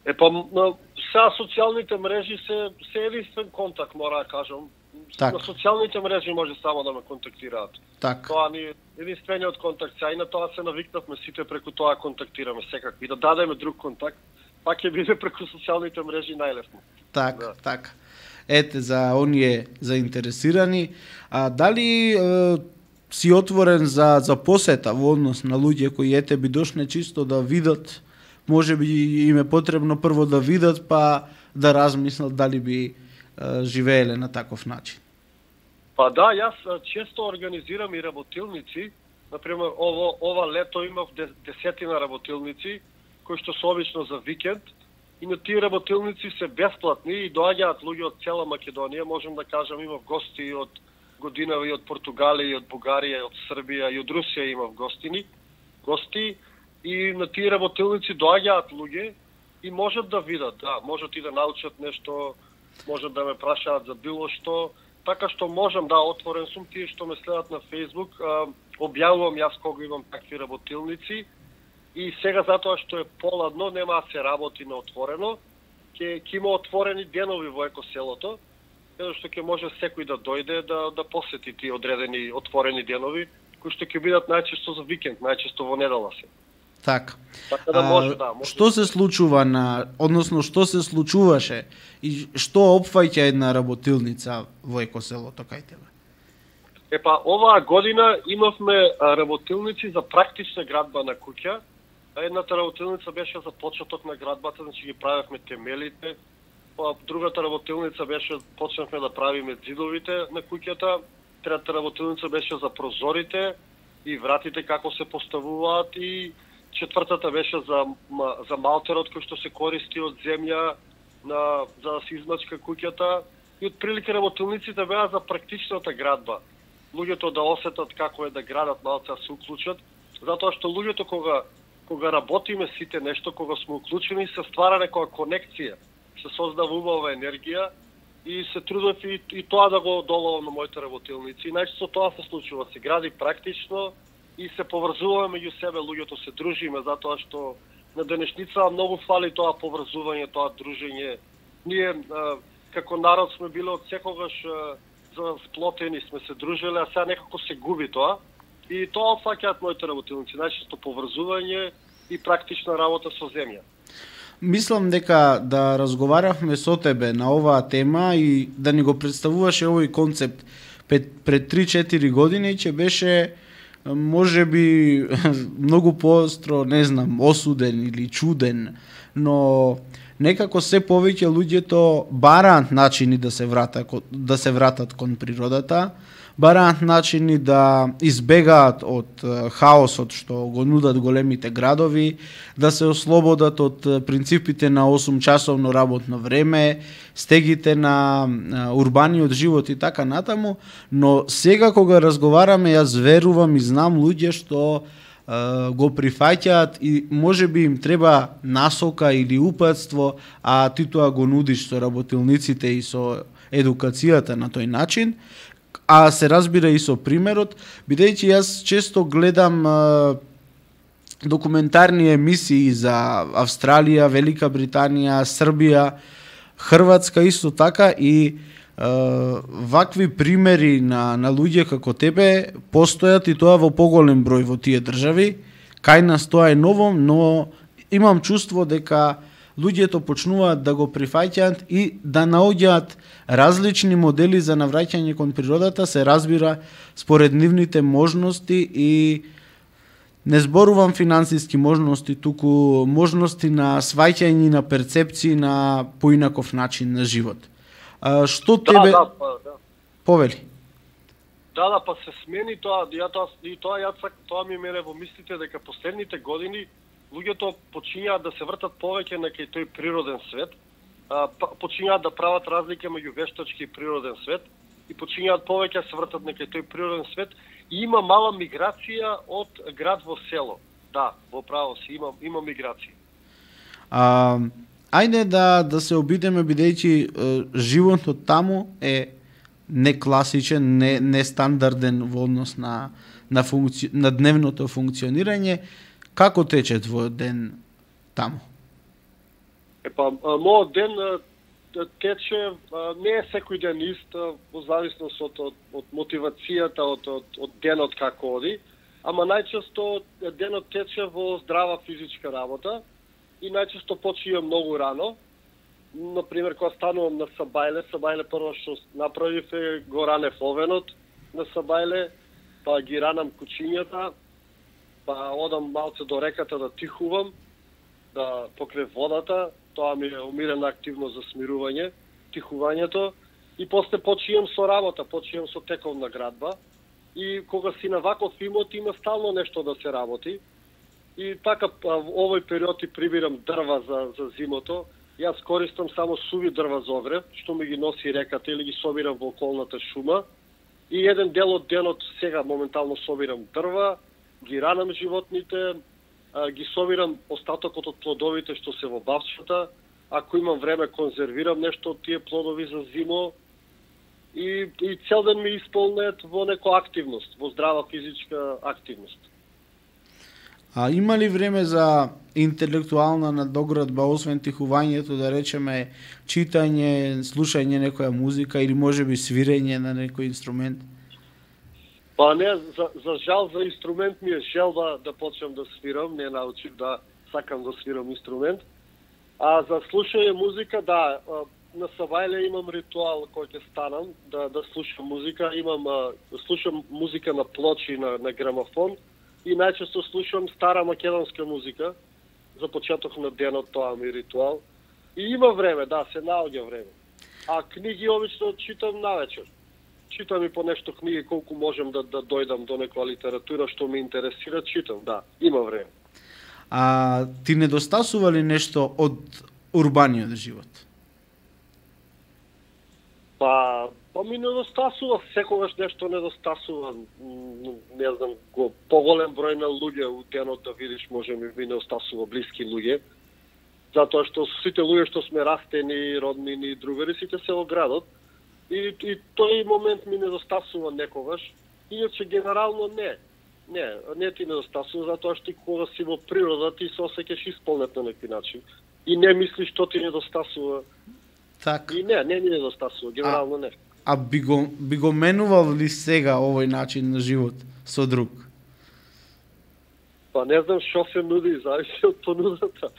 Е па сега социјалните мрежи се се единствен контакт, мора да кажам. Так. На социјалните мрежи може само да ме контактираат. Так. Тоа ни е единствениот контакт. Сега и на тоа се навикнавме сите преку тоа контактираме секако. И да дадеме друг контакт, пак ќе биде преку социјалните мрежи најлесно. Так, да. так. Ете, за оние заинтересирани, а дали е, си отворен за за посета во однос на луѓе кои ете би дошне чисто да видат, може би им е потребно прво да видат, па да размислат дали би е, живееле на таков начин? Па да, јас често организирам и работилници. Например, ово, ова лето имав десетина работилници, кои што се обично за викенд. И на тие работилници се бесплатни и доаѓаат луѓе од цела Македонија. Можам да кажам, имав гости и од годинава и од Португалија, и од Бугарија, и од Србија, и од Русија имав гостини. Гости. И на тие работилници доаѓаат луѓе и можат да видат, да, можат и да научат нешто, можат да ме прашаат за било што, така што можам да отворен сум. Тие што ме следат на Facebook, а, објавувам јас кога имам такви работилници и сега затоа што е поладно, нема да се работи на отворено, ќе ќе има отворени денови во екоселото, каде што ќе може секој да дојде да да посети тие одредени отворени денови, кои што ќе бидат најчесто за викенд, најчесто во недела се. Так. Така да може, да, може. Што се случува на, односно што се случуваше и што опфаќа една работилница во екоселото кај тебе? Епа, оваа година имавме работилници за практична градба на куќа. Едната работилница беше за почеток на градбата, значи ги правевме темелите. Па другата работилница беше почнавме да правиме ѕидовите на куќата. Третата работилница беше за прозорите и вратите како се поставуваат и четвртата беше за за малтерот кој што се користи од земја на за да се измачка куќата и отприлика работилниците беа за практичната градба. Луѓето да осетат како е да градат, малце да се уклучат, затоа што луѓето кога кога работиме сите нешто, кога сме уклучени, се ствара некоја конекција, се создава убава енергија и се трудев и, и тоа да го доловам на моите работилници. И најчесто тоа се случува, се гради практично и се поврзуваме меѓу себе, луѓето се дружиме, затоа што на денешница многу фали тоа поврзување, тоа дружење. Ние а, како народ сме биле од секогаш а, за сплотени, сме се дружеле, а сега некако се губи тоа. И тоа опфаќаат моите работилници, најчесто поврзување и практична работа со земја. Мислам дека да разговаравме со тебе на оваа тема и да ни го представуваше овој концепт пред, пред три-четири години, че беше може би многу поостро, не знам, осуден или чуден, но некако се повеќе луѓето бараат начини да се вратат да се вратат кон природата, бараат начини да избегаат од хаосот што го нудат големите градови, да се ослободат од принципите на осум часовно работно време, стегите на урбаниот живот и така натаму, но сега кога разговараме, јас верувам и знам луѓе што го прифаќаат и може би им треба насока или упатство, а ти тоа го нудиш со работилниците и со едукацијата на тој начин, а се разбира и со примерот, бидејќи јас често гледам а, документарни емисии за Австралија, Велика Британија, Србија, Хрватска исто така и а, вакви примери на, на луѓе како тебе постојат и тоа во поголем број во тие држави. Кај нас тоа е ново, но имам чувство дека луѓето почнуваат да го прифаќаат и да наоѓаат различни модели за навраќање кон природата, се разбира според нивните можности и не зборувам финансиски можности, туку можности на сваќање на перцепции на поинаков начин на живот. А, што Да, тебе да, па, да. повели? Да, да, па се смени тоа, ја тоа и тоа ја тоа ми мене во мислите дека последните години луѓето почињаат да се вртат повеќе на кај тој природен свет, а, почињаат да прават разлика меѓу вештачки и природен свет и почињаат повеќе да се вртат на кај тој природен свет и има мала миграција од град во село. Да, во право си има има миграција. А, ајде да да се обидеме бидејќи животот таму е не класичен, не нестандарден во однос на на функци... на дневното функционирање. Како тече твојот ден таму? Епа, мојот ден тече, не е секој ден ист, во зависност од, од, од мотивацијата, од, од, од денот како оди, ама најчесто денот тече во здрава физичка работа и најчесто почијам многу рано. Например, кога станувам на Сабајле, Сабајле прво што направив е го ранев овенот на Сабајле, па ги ранам кучињата, па одам малце до реката да тихувам, да покрај водата, тоа ми е умирена активност за смирување, тихувањето, и после почијам со работа, почијам со тековна градба, и кога си на ваков имот има стално нешто да се работи, и така во овој период и прибирам дрва за, за зимото. Јас користам само суви дрва за огрев, што ми ги носи реката или ги собирам во околната шума, и еден дел од денот сега моментално собирам дрва, ги ранам животните, ги собирам остатокот од плодовите што се во бавчата, ако имам време конзервирам нешто од тие плодови за зимо и, и цел ден ми исполнет во некоја активност, во здрава физичка активност. А има ли време за интелектуална надоградба, освен тихувањето, да речеме читање, слушање некоја музика или можеби свирење на некој инструмент? Па не, за, за жал за инструмент ми е желба да почнам да свирам, не научив да сакам да свирам инструмент. А за слушање музика, да, на Сабајле имам ритуал кој ќе станам да да слушам музика, имам да слушам музика на плочи, на, на грамофон и најчесто слушам стара македонска музика за почеток на денот, тоа ми е ритуал. И има време, да, се наоѓа време. А книги обично читам навечер. Читам и по нешто книги колку можам да да дојдам до некоја литература што ме интересира, читам, да, има време. А ти недостасува ли нешто од урбаниот живот? Па, па ми недостасува, секогаш нешто недостасува, не знам, го поголем број на луѓе у денот да видиш, може ми ми недостасува блиски луѓе. Затоа што сите луѓе што сме растени, роднини и другари, сите се во градот. И, и тој момент ми недостасува некогаш. Иначе генерално не. Не, не ти недостасува, затоа што ти кога си во природа ти се осеќаш исполнет на некој начин. И не мислиш што ти недостасува. Так. И не, не ми недостасува, генерално не. А би го, би го менувал ли сега овој начин на живот со друг? Па не знам што се нуди, зависи од понудата.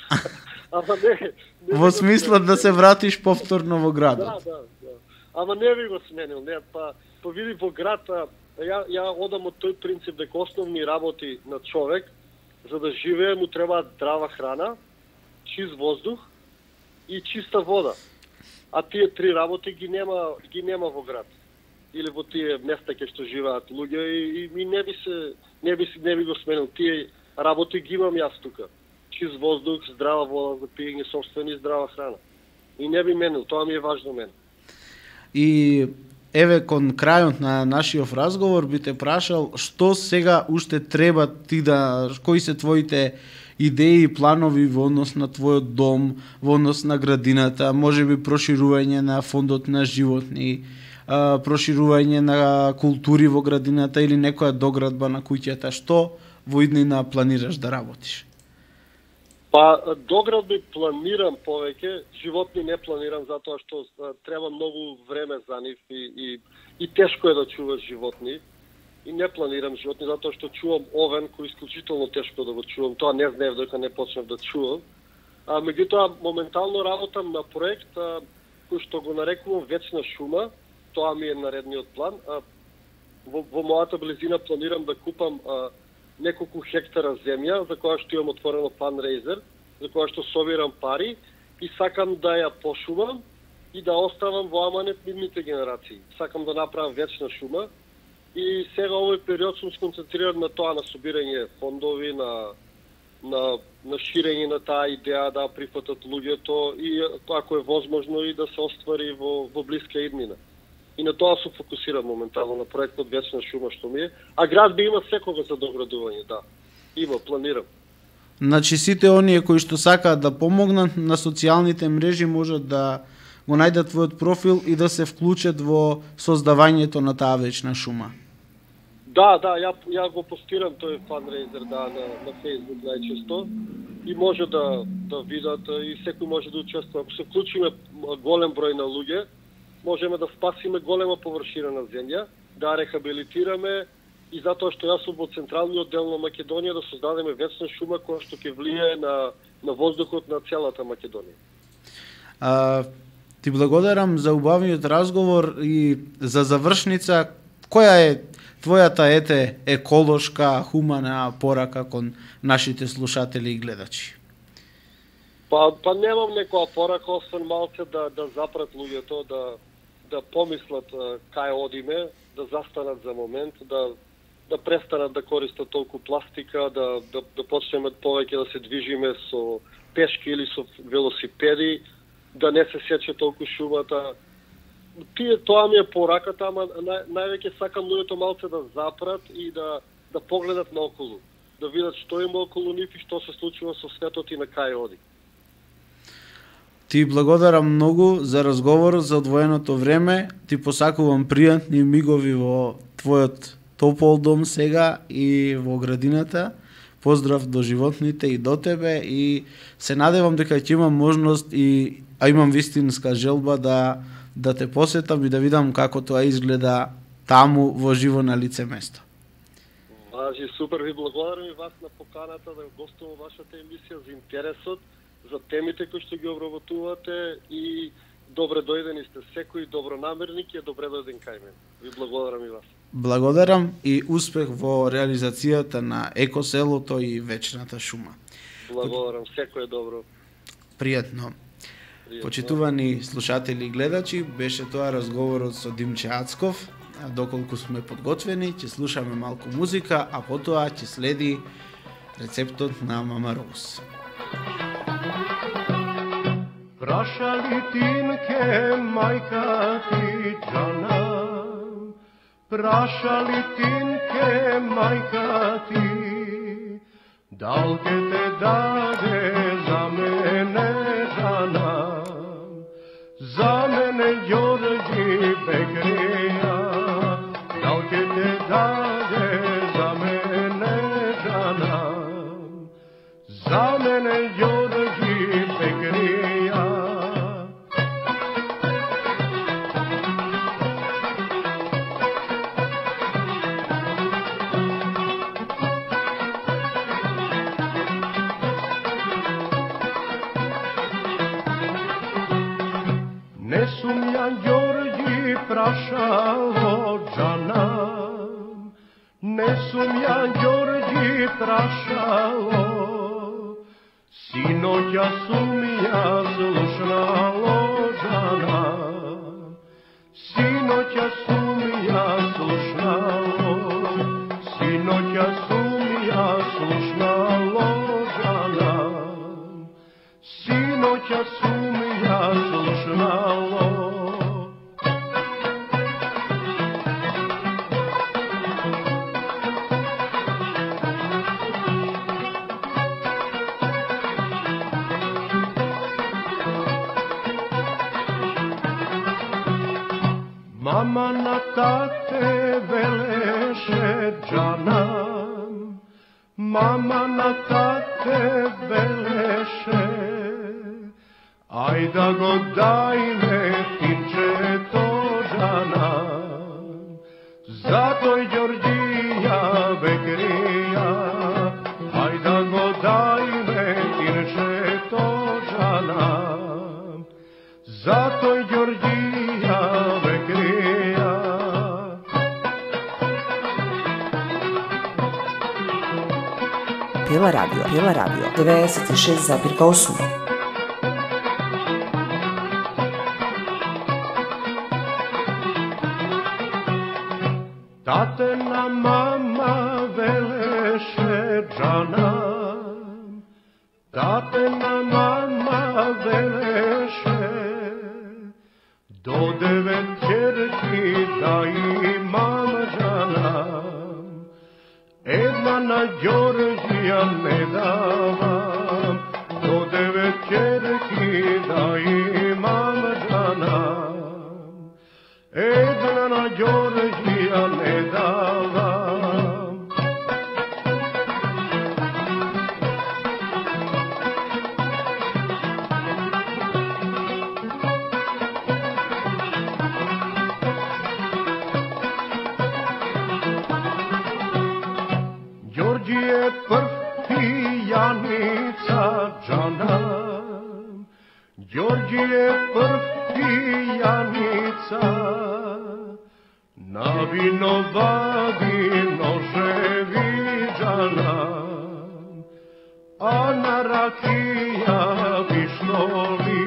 Ама не, не Во смислот да се вратиш повторно во градот. Да, да, да. Ама не би го сменил, не, па, па види во град, ја, ја одам од тој принцип дека основни работи на човек, за да живее му треба здрава храна, чист воздух и чиста вода. А тие три работи ги нема, ги нема во град. Или во тие места кај што живеат луѓе и, и не би се не би не би го сменил. Тие работи ги имам јас тука. Чист воздух, здрава вода за пиење, собствени здрава храна. И не би менил, тоа ми е важно мен. И еве кон крајот на нашиот разговор би те прашал што сега уште треба ти да, кои се твоите идеи и планови во однос на твојот дом, во однос на градината, можеби проширување на фондот на животни, проширување на култури во градината или некоја доградба на куќата, што во иднина планираш да работиш? Па, доградби планирам повеќе, животни не планирам затоа што треба многу време за нив и, и, и тешко е да чуваш животни. И не планирам животни затоа што чувам овен кој е исклучително тешко да го чувам. Тоа не знаев дека не почнав да чувам. А меѓутоа моментално работам на проект а, кој што го нарекувам Вечна шума. Тоа ми е наредниот план. А, во, во мојата близина планирам да купам а, неколку хектара земја, за која што имам отворено фанрейзер, за која што собирам пари и сакам да ја пошумам и да оставам во аманет нивните генерации. Сакам да направам вечна шума и сега овој период сум сконцентриран на тоа, на собирање фондови, на на на ширење на таа идеја да прифатат луѓето и ако е возможно и да се оствари во во блиска иднина. И на тоа се фокусирам моментално, на проектот Вечна шума што ми е. А град би има секога за доградување, да. Има, планирам. Значи сите оние кои што сакаат да помогнат на социјалните мрежи можат да го најдат твојот профил и да се вклучат во создавањето на таа Вечна шума. Да, да, ја, ја го постирам тој фанрейзер да, на, на Facebook најчесто и може да, да видат и секој може да учествува. Ако се вклучиме голем број на луѓе, можеме да спасиме голема површина на земја, да рехабилитираме и затоа што јас сум во централниот дел на Македонија да создадеме вечна шума која што ќе влие на, на воздухот на целата Македонија. А, ти благодарам за убавиот разговор и за завршница, која е твојата ете еколошка, хумана порака кон нашите слушатели и гледачи? Па, па немам некоја порака, освен малце да, да запрат луѓето, да, да помислат кај одиме, да застанат за момент, да, да престанат да користат толку пластика, да, да, да почнеме повеќе да се движиме со пешки или со велосипеди, да не се сече толку шумата. Тие, тоа ми е пораката, ама нај, највеќе сакам луѓето малце да запрат и да, да погледат наоколу, да видат што има околу нив и што се случува со светот и на кај оди. Ти благодарам многу за разговорот, за одвоеното време. Ти посакувам пријатни мигови во твојот топол дом сега и во градината. Поздрав до животните и до тебе и се надевам дека ќе имам можност и а имам вистинска желба да да те посетам и да видам како тоа изгледа таму во живо на лице место. Важи, супер, ви благодарам и вас на поканата да гостувам вашата емисија, за интересот, за темите кои што ги обработувате и добре дојдени сте. Секој добронамерник е добре дојден кај мен. Ви благодарам и вас. Благодарам и успех во реализацијата на екоселото и вечната шума. Благодарам, секој е добро. Пријатно. Почитувани слушатели и гледачи, беше тоа разговорот со Димче Ацков. Доколку сме подготвени, ќе слушаме малку музика, а потоа ќе следи рецептот на Мама Роуз. Праша ли тинке мајка ти джана, праша ли тинке мајка ти, Дал ке те даде за мене жана, за мене Ѓорѓи Бекрија. Дал ке те даде за мене жана, за мене Ѓорѓи Бекрија. Не сум ја Ѓорѓи прашало џана, не сум ја Ѓорѓи прашало, синоќа сум ја слушнало џана, синоќа сум ја слушнало, синоќа сум ја слушнало џана, синоќа сум ја слушнало. Мама на тате велеше џана, мама на тате велеше, ај да го дајме тинчето џана, за тој Ѓорѓија Бекрија, ај да го дајме тинчето џана, за тој Ѓорѓија Бекрија. Пила радио, Пила радио, деветдесет и шест запирка осум. Татена мама велеше џана, татена мама велеше, до девет ќерки да имам џана, една на Ѓорѓија не давам, до девет ќерки да имам џана, една на Ѓорѓија не давам. Ѓорѓи е прв пијаница џана, Ѓорѓи е прв пијаница, на вино вади ножеви џана, а на ракија пиштоли,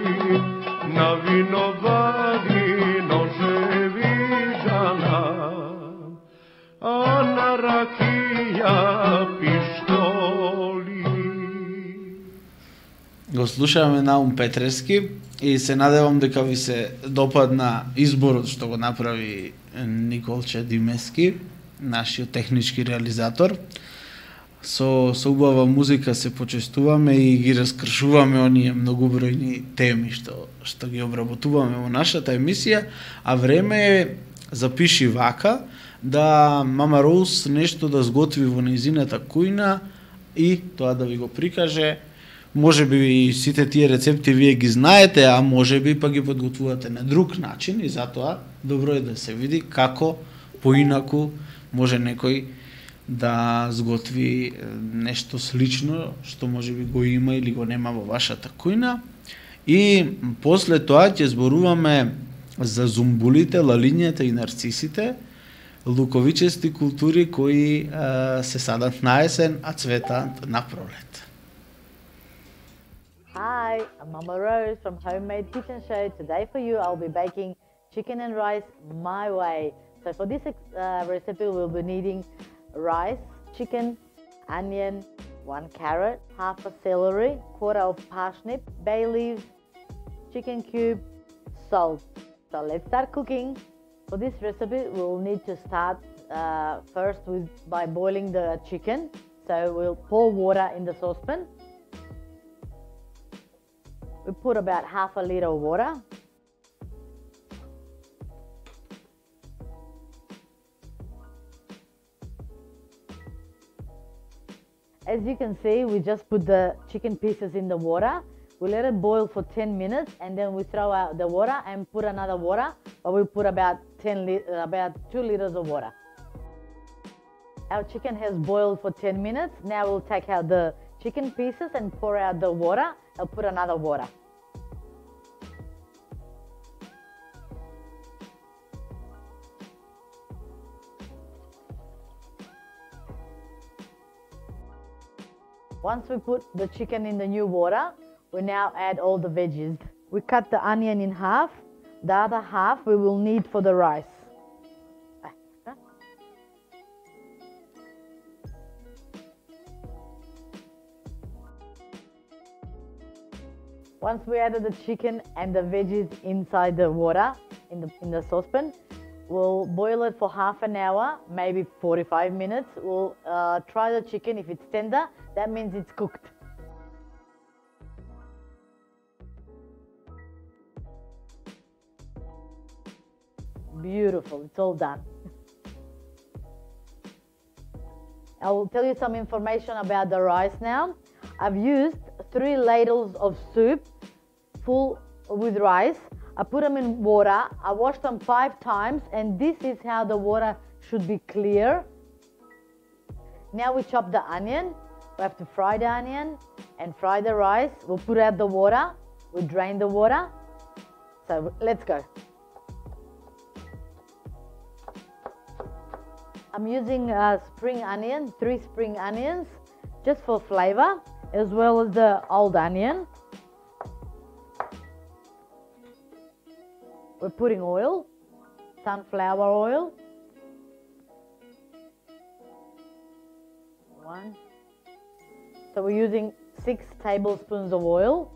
на вино вади ножеви џана, а на ракија пиштоли. Го слушаваме Наум Петрески и се надевам дека ви се допадна изборот што го направи Николче Димески, нашиот технички реализатор. Со, со убава музика се почестуваме и ги раскршуваме оние многобројни теми што, што ги обработуваме во нашата емисија, а време е запиши вака да Мама Роуз нешто да сготви во нејзината кујна и тоа да ви го прикаже. Може би сите тие рецепти вие ги знаете, а може би па ги подготвувате на друг начин и затоа добро е да се види како поинаку може некој да сготви нешто слично што може би го има или го нема во вашата кујна. И после тоа ќе зборуваме за зумбулите, лалињата и нарцисите, луковичести култури кои а, се садат на есен, а цветат на пролет. Hi, I'm Mama Rose from Homemade Kitchen Show. Today for you I'll be baking chicken and rice my way. So for this uh, recipe we'll be needing rice, chicken, onion, one carrot, half a celery, quarter of parsnip, bay leaves, chicken cube, salt. So let's start cooking. For this recipe we'll need to start uh, first with by boiling the chicken. So we'll pour water in the saucepan. We put about half a litre of water. As you can see, we just put the chicken pieces in the water. We let it boil for ten minutes and then we throw out the water and put another water, but we put about ten li about two liters of water. Our chicken has boiled for ten minutes. Now we'll take out the chicken pieces and pour out the water and put another water. Once we put the chicken in the new water, we now add all the veggies. We cut the onion in half. The other half we will need for the rice. Once we added the chicken and the veggies inside the water, in the, in the saucepan, we'll boil it for half an hour, maybe forty-five minutes. We'll uh, try the chicken. If it's tender, that means it's cooked. Beautiful, it's all done. I will tell you some information about the rice now. I've used three ladles of soup full with rice. I put them in water. I washed them five times, and this is how the water should be clear. Now we chop the onion. We have to fry the onion and fry the rice. We'll put out the water. We drain the water. So let's go. I'm using uh, spring onion, three spring onions, just for flavor, as well as the old onion. We're putting oil, sunflower oil. One. So we're using six tablespoons of oil.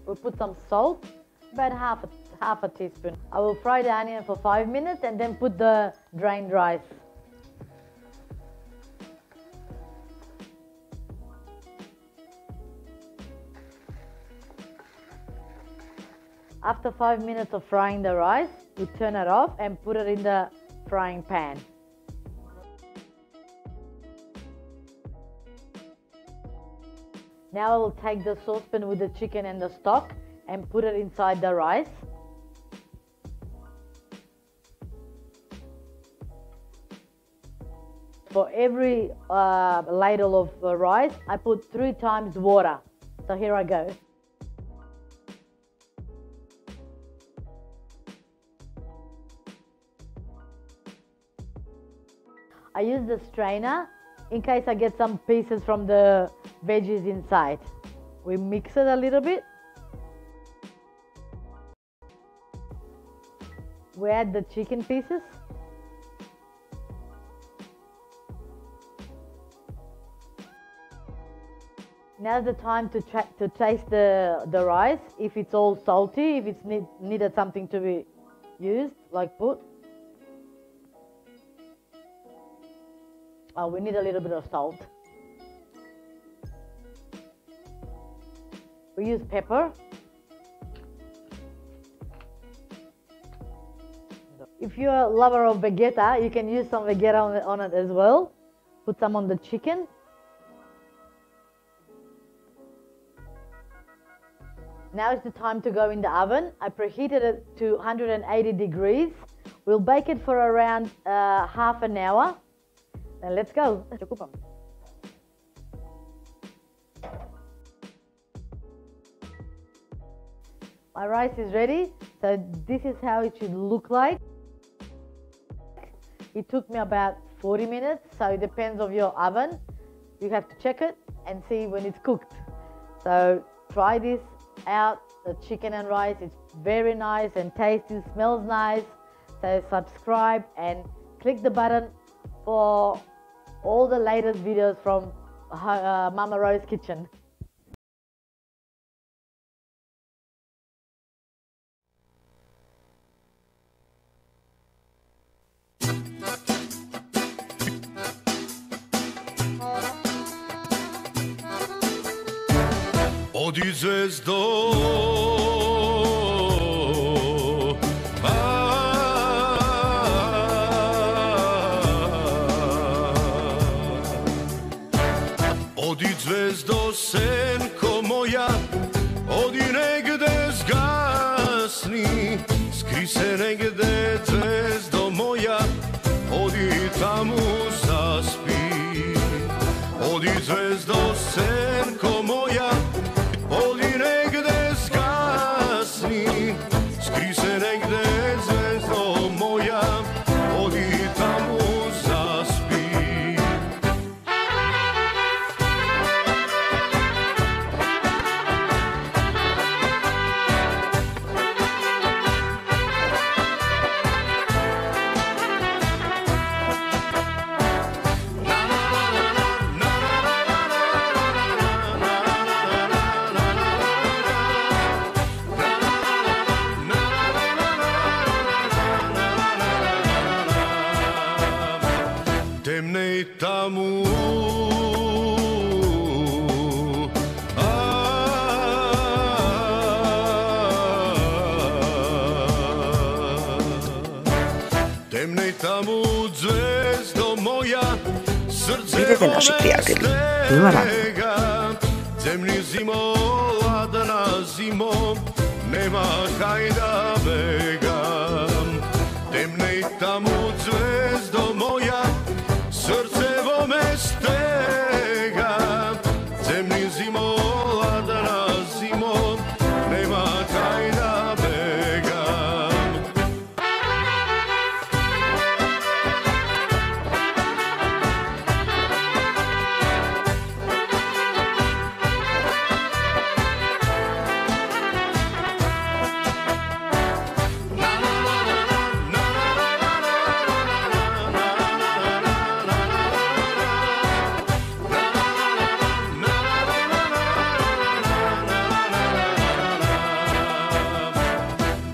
We'll put some salt, about half a, half a teaspoon. I will fry the onion for five minutes and then put the drained rice. After five minutes of frying the rice, we turn it off and put it in the frying pan. Now I will take the saucepan with the chicken and the stock and put it inside the rice. For every uh, ladle of uh, rice, I put three times water. So here I go. I use the strainer in case I get some pieces from the veggies inside. We mix it a little bit. We add the chicken pieces. Now's the time to, tra to taste the, the rice, if it's all salty, if it's need needed something to be used, like put. Oh, we need a little bit of salt. We use pepper. If you're a lover of Vegeta, you can use some Vegeta on it, on it as well. Put some on the chicken. Now is the time to go in the oven. I preheated it to one hundred eighty degrees. We'll bake it for around uh, half an hour. Then let's go. My rice is ready. So this is how it should look like. It took me about forty minutes, so it depends on your oven. You have to check it and see when it's cooked. So try this out, the chicken and rice. It's very nice and tasty, smells nice. So subscribe and click the button for all the latest videos from uh, Mama Rose Kitchen. Оди звездо, оди звездо, сенко моја, оди негде згасни, скри се негде, звездо моја, оди таму заспи. Оди звездо, сенко моја, оди негде згасни, скри се негде, звездо моја, оди таму заспи. Темне таму, а, темне таму, звездо моја, срце Бидете наши пријатели. Пила радио. Земни зимо, ладна зимо, нема кај да бегам. Темне таму, звездо моја, срце во ме стега, земни зимо, ладна зимо, нема кај да бегам.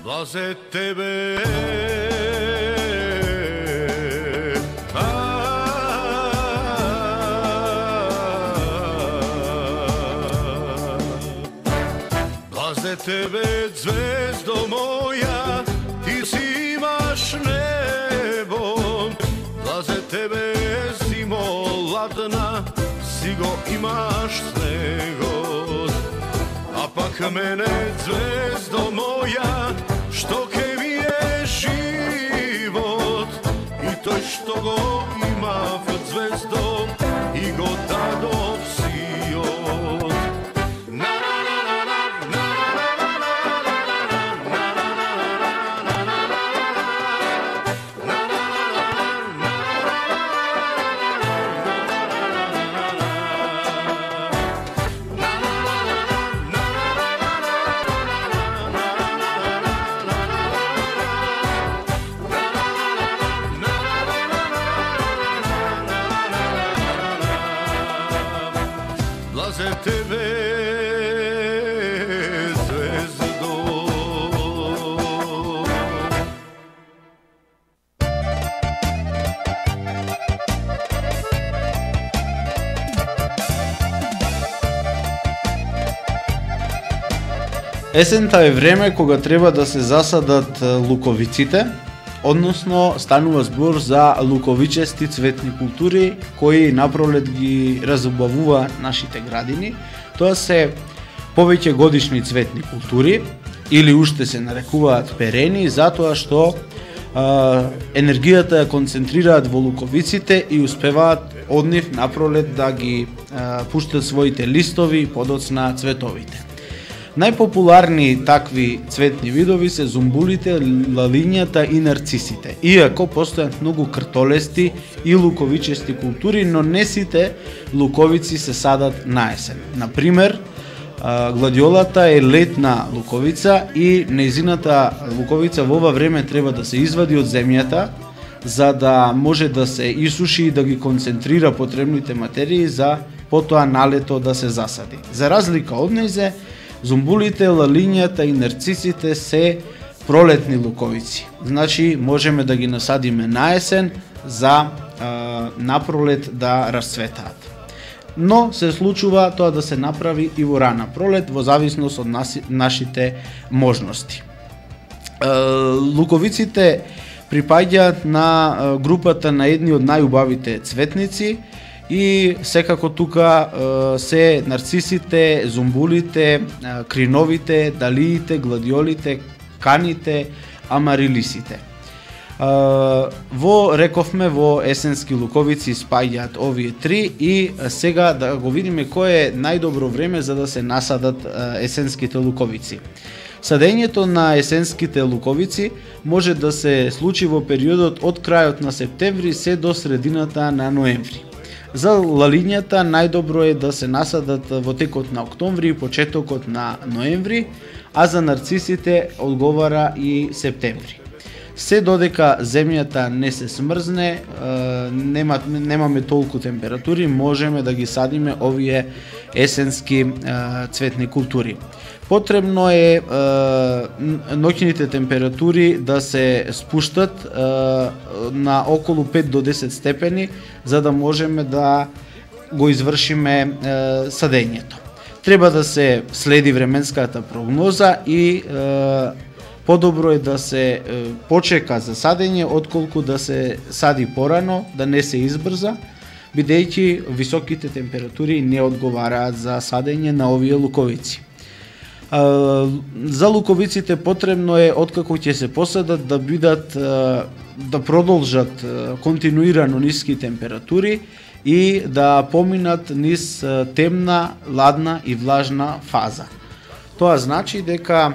Блазе тебе, а, блазе тебе, звездо моја, ти си имаш небо, блазе тебе, зимо ладна, си го имаш снегот, а пак мене, звездо моја, што ке ми е живот, и тој што го има в звездо, и го дадов сиот. Блазе тебе, звездо. Есента е време кога треба да се засадат луковиците, односно станува збор за луковичести цветни култури кои напролет ги разубавува нашите градини. Тоа се повеќе годишни цветни култури или уште се нарекуваат перени, затоа што а, енергијата ја концентрираат во луковиците и успеваат од нив напролет да ги а, пуштат своите листови и подоцна цветовите. Најпопуларни такви цветни видови се зумбулите, лалињата и нарцисите. Иако постојат многу кртолести и луковичести култури, но не сите луковици се садат на есен. Например, гладиолата е летна луковица и нејзината луковица во ова време треба да се извади од земјата за да може да се исуши и да ги концентрира потребните материи за потоа налето да се засади. За разлика од нејзе, зумбулите, лалињата и нарцисите се пролетни луковици. Значи, можеме да ги насадиме на есен за а, напролет да расцветаат. но се случува тоа да се направи и во рана пролет во зависност од наси, нашите можности. Луковиците припаѓаат на групата на едни од најубавите цветници и секако тука се нарцисите, зумбулите, криновите, далиите, гладиолите, каните, амарилисите. Во рековме во есенски луковици спаѓаат овие три и сега да го видиме кој е најдобро време за да се насадат есенските луковици. Садењето на есенските луковици може да се случи во периодот од крајот на септември се до средината на ноември. За лалињата најдобро е да се насадат во текот на октомври и почетокот на ноември, а за нарцисите одговара и септември. Се додека земјата не се смрзне, нема, немаме толку температури, можеме да ги садиме овие есенски цветни култури. Потребно е, е ноќните температури да се спуштат е, на околу пет до десет степени за да можеме да го извршиме е, садењето. Треба да се следи временската прогноза и е, подобро е да се е, почека за садење отколку да се сади порано, да не се избрза, бидејќи високите температури не одговараат за садење на овие луковици. За луковиците потребно е откако ќе се посадат да бидат да продолжат континуирано ниски температури и да поминат низ темна, ладна и влажна фаза. Тоа значи дека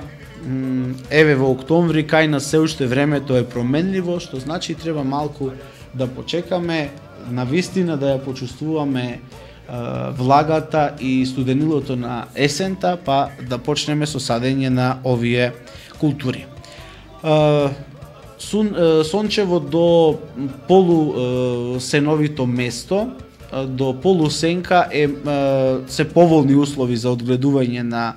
еве во октомври кај нас се уште времето е променливо, што значи треба малку да почекаме, навистина да ја почувствуваме влагата и студенилото на есента, па да почнеме со садење на овие култури. Сончево до полусеновито место, до полусенка е се поволни услови за одгледување на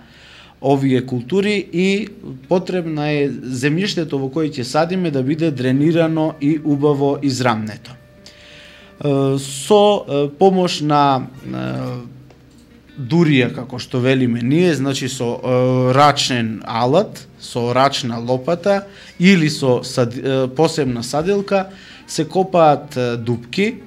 овие култури и потребна е земјиштето во кое ќе садиме да биде дренирано и убаво израмнето. Со помош на дурија, како што велиме ние, значи со рачен алат, со рачна лопата или со сад, посебна саделка, се копаат дупки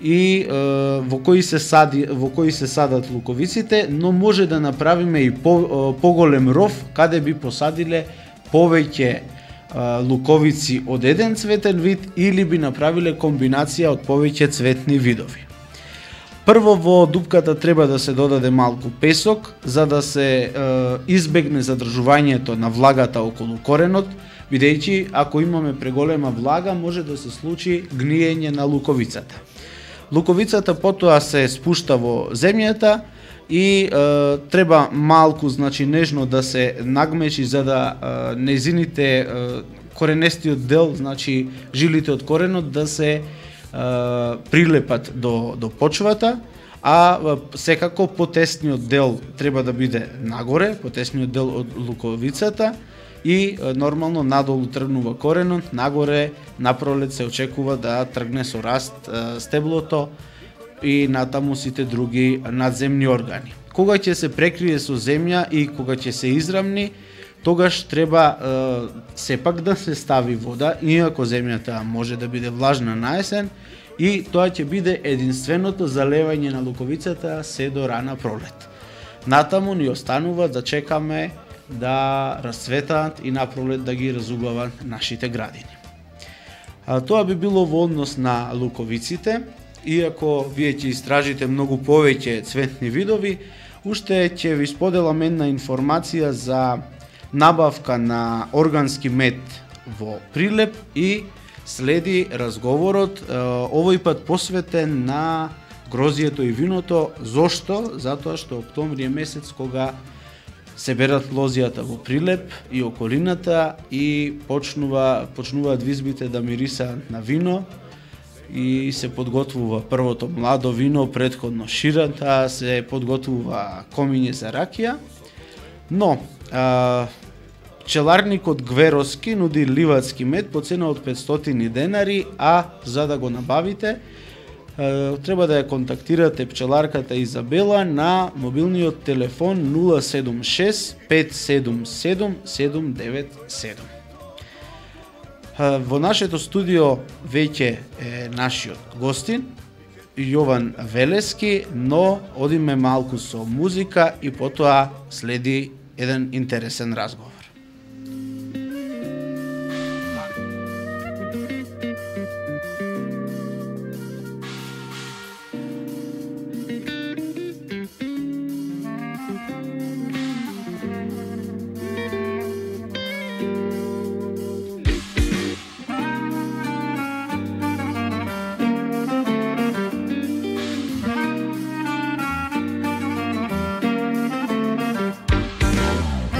и во кои се сади, во кои се садат луковиците, но може да направиме и по, поголем ров каде би посадиле повеќе луковици од еден цветен вид или би направиле комбинација од повеќе цветни видови. Прво во дупката треба да се додаде малку песок за да се е, избегне задржувањето на влагата околу коренот, бидејќи ако имаме преголема влага може да се случи гниење на луковицата. Луковицата потоа се спушта во земјата и е, треба малку, значи нежно да се нагмечи за да е, незините е, коренестиот дел, значи жилите од коренот да се е, прилепат до до почвата, а е, секако потесниот дел треба да биде нагоре, потесниот дел од луковицата и е, нормално надолу тргнува коренот, нагоре напролет се очекува да тргне со раст е, стеблото и натаму сите други надземни органи. Кога ќе се прекрие со земја и кога ќе се израмни, тогаш треба е, сепак да се стави вода, иако земјата може да биде влажна на есен, и тоа ќе биде единственото залевање на луковицата се до рана пролет. Натаму ни останува да чекаме да расцветаат и на пролет да ги разубават нашите градини. А, тоа би било во однос на луковиците. Иако вие ќе истражите многу повеќе цветни видови, уште ќе ви споделам една информација за набавка на органски мед во Прилеп и следи разговорот, овој пат посветен на грозието и виното. Зошто? Затоа што октомври е месец кога се берат лозијата во Прилеп и околината и почнува почнуваат визбите да мирисаат на вино и се подготвува првото младо вино, претходно ширата, се подготвува комиње за ракија. Но а, пчеларникот Гверовски нуди ливадски мед по цена од петстотини денари, а за да го набавите треба да ја контактирате пчеларката Изабела на мобилниот телефон нула седум шест пет седум седум седум девет седум. Во нашето студио веќе е нашиот гостин Јован Велески, но одиме малку со музика и потоа следи еден интересен разговор.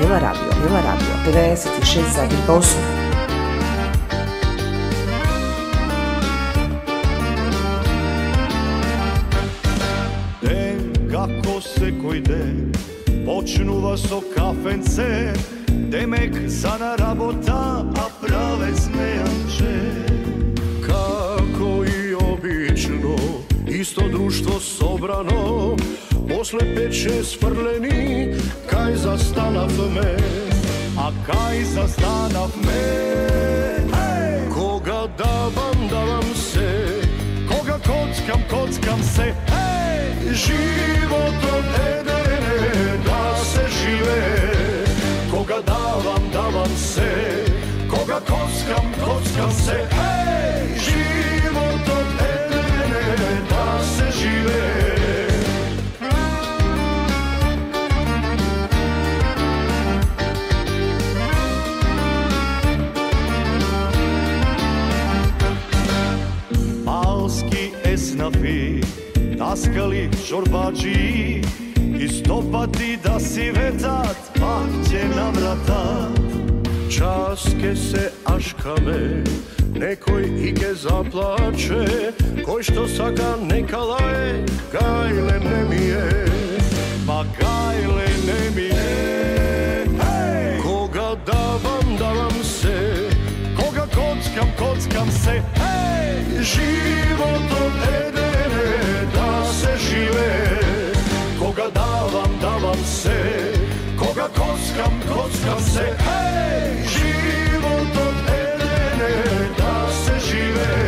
Pila radio, Pila radio, devedeset i šest zarez osam. Ден како секој ден почнува со кафенце, демек за на работа, а праве смејанче. Како и обично, исто друштво собрано, после пет-шест фрлени, кај застанавме, а кај застанавме. Кога давам, давам се, кога коцкам, коцкам се. Животот еден е да се живее. Кога давам, давам се, кога коцкам, коцкам се. Животот еден е да се живее. Малски еснафи, таскали чорбаджи, и стопати да си ветат, пак ќе навратат. Час ке се ашкаме, некој и ке заплаче, кој што сака нека лае, гајле не ми е, па гајле не ми е. Кога давам, давам се, кога коцкам, коцкам се. Животот еден е да се живее. Кога давам, давам се, кога коцкам, коцкам се. Животот еден е да се живее.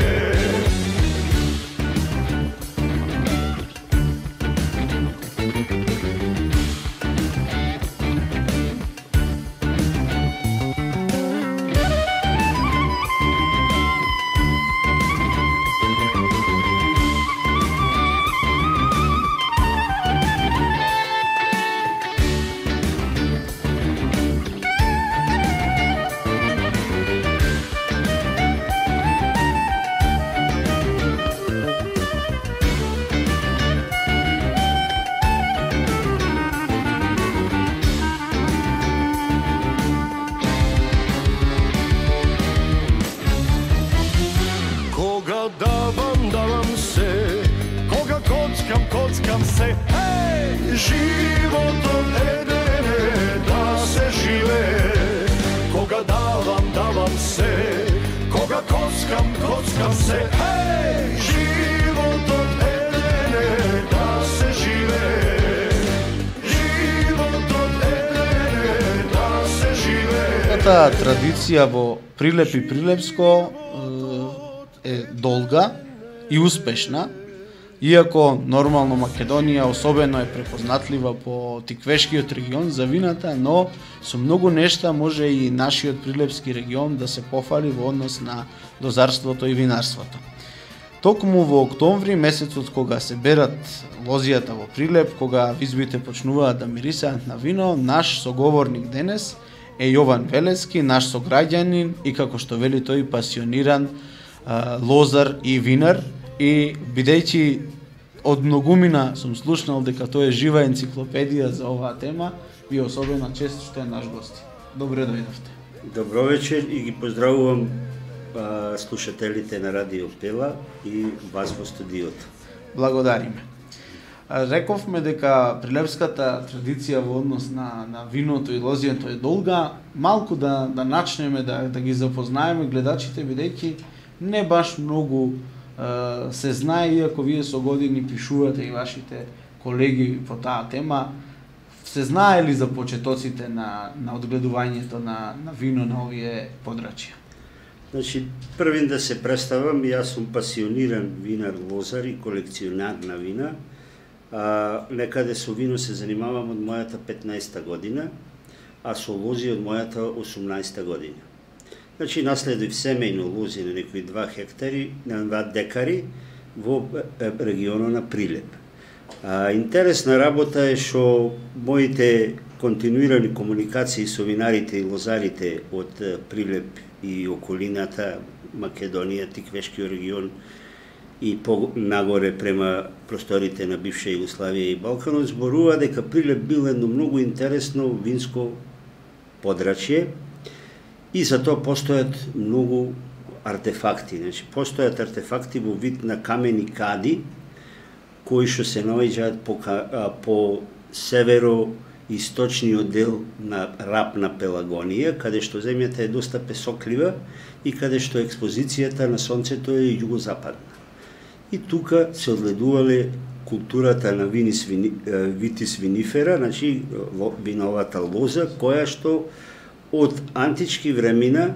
Коцкам се, животот еден е да се живее. Кога давам, давам се, кога коцкам, коцкам се. Животот еден е да се живее. Животот еден е да се живее. Таа традиција во Прилеп и Прилепско е долга и успешна. Иако нормално Македонија особено е препознатлива по Тиквешкиот регион за вината, но со многу нешта може и нашиот Прилепски регион да се пофали во однос на лозарството и винарството. Токму во октомври, месецот кога се берат лозијата во Прилеп, кога визбите почнуваат да мирисаат на вино, наш соговорник денес е Јован Велески, наш сограѓанин и како што вели тој пасиониран а, лозар и винар. И бидејќи од многумина сум слушнал дека тоа е жива енциклопедија за оваа тема, ви особено чест што е наш гост. Добре дојдовте. Добро вечер и ги поздравувам а, слушателите на Радио Пела и вас во студиото. Благодариме. Рековме дека прилепската традиција во однос на, на виното и лозијето е долга. Малку да, да начнеме да, да ги запознаеме гледачите, бидејќи не баш многу се знае, иако вие со години пишувате и вашите колеги по таа тема, се знае ли за почетоците на, на одгледувањето на, на вино на овие подрачја? Значи, првин да се представам, јас сум пасиониран винар, лозар и колекционар на вина. А, некаде со вино се занимавам од мојата петнаесета година, а со лози од мојата осумнаесета година. Значи, наследив семејно лози на некои два хектари, на два декари во регионот на Прилеп. А, интересна работа е што моите континуирани комуникации со винарите и лозарите од Прилеп и околината, Македонија, Тиквешкиот регион и понагоре према просторите на бивша Југославија и Балканот, зборува дека Прилеп бил едно многу интересно винско подрачје и за тоа постојат многу артефакти. Значи, постојат артефакти во вид на камени кади, кои што се наоѓаат по, по северо-источниот дел на Рап на Пелагонија, каде што земјата е доста песоклива и каде што експозицијата на сонцето е југозападна. И тука се одгледувале културата на винис вини, витис винифера, значи виновата лоза, која што од антички времена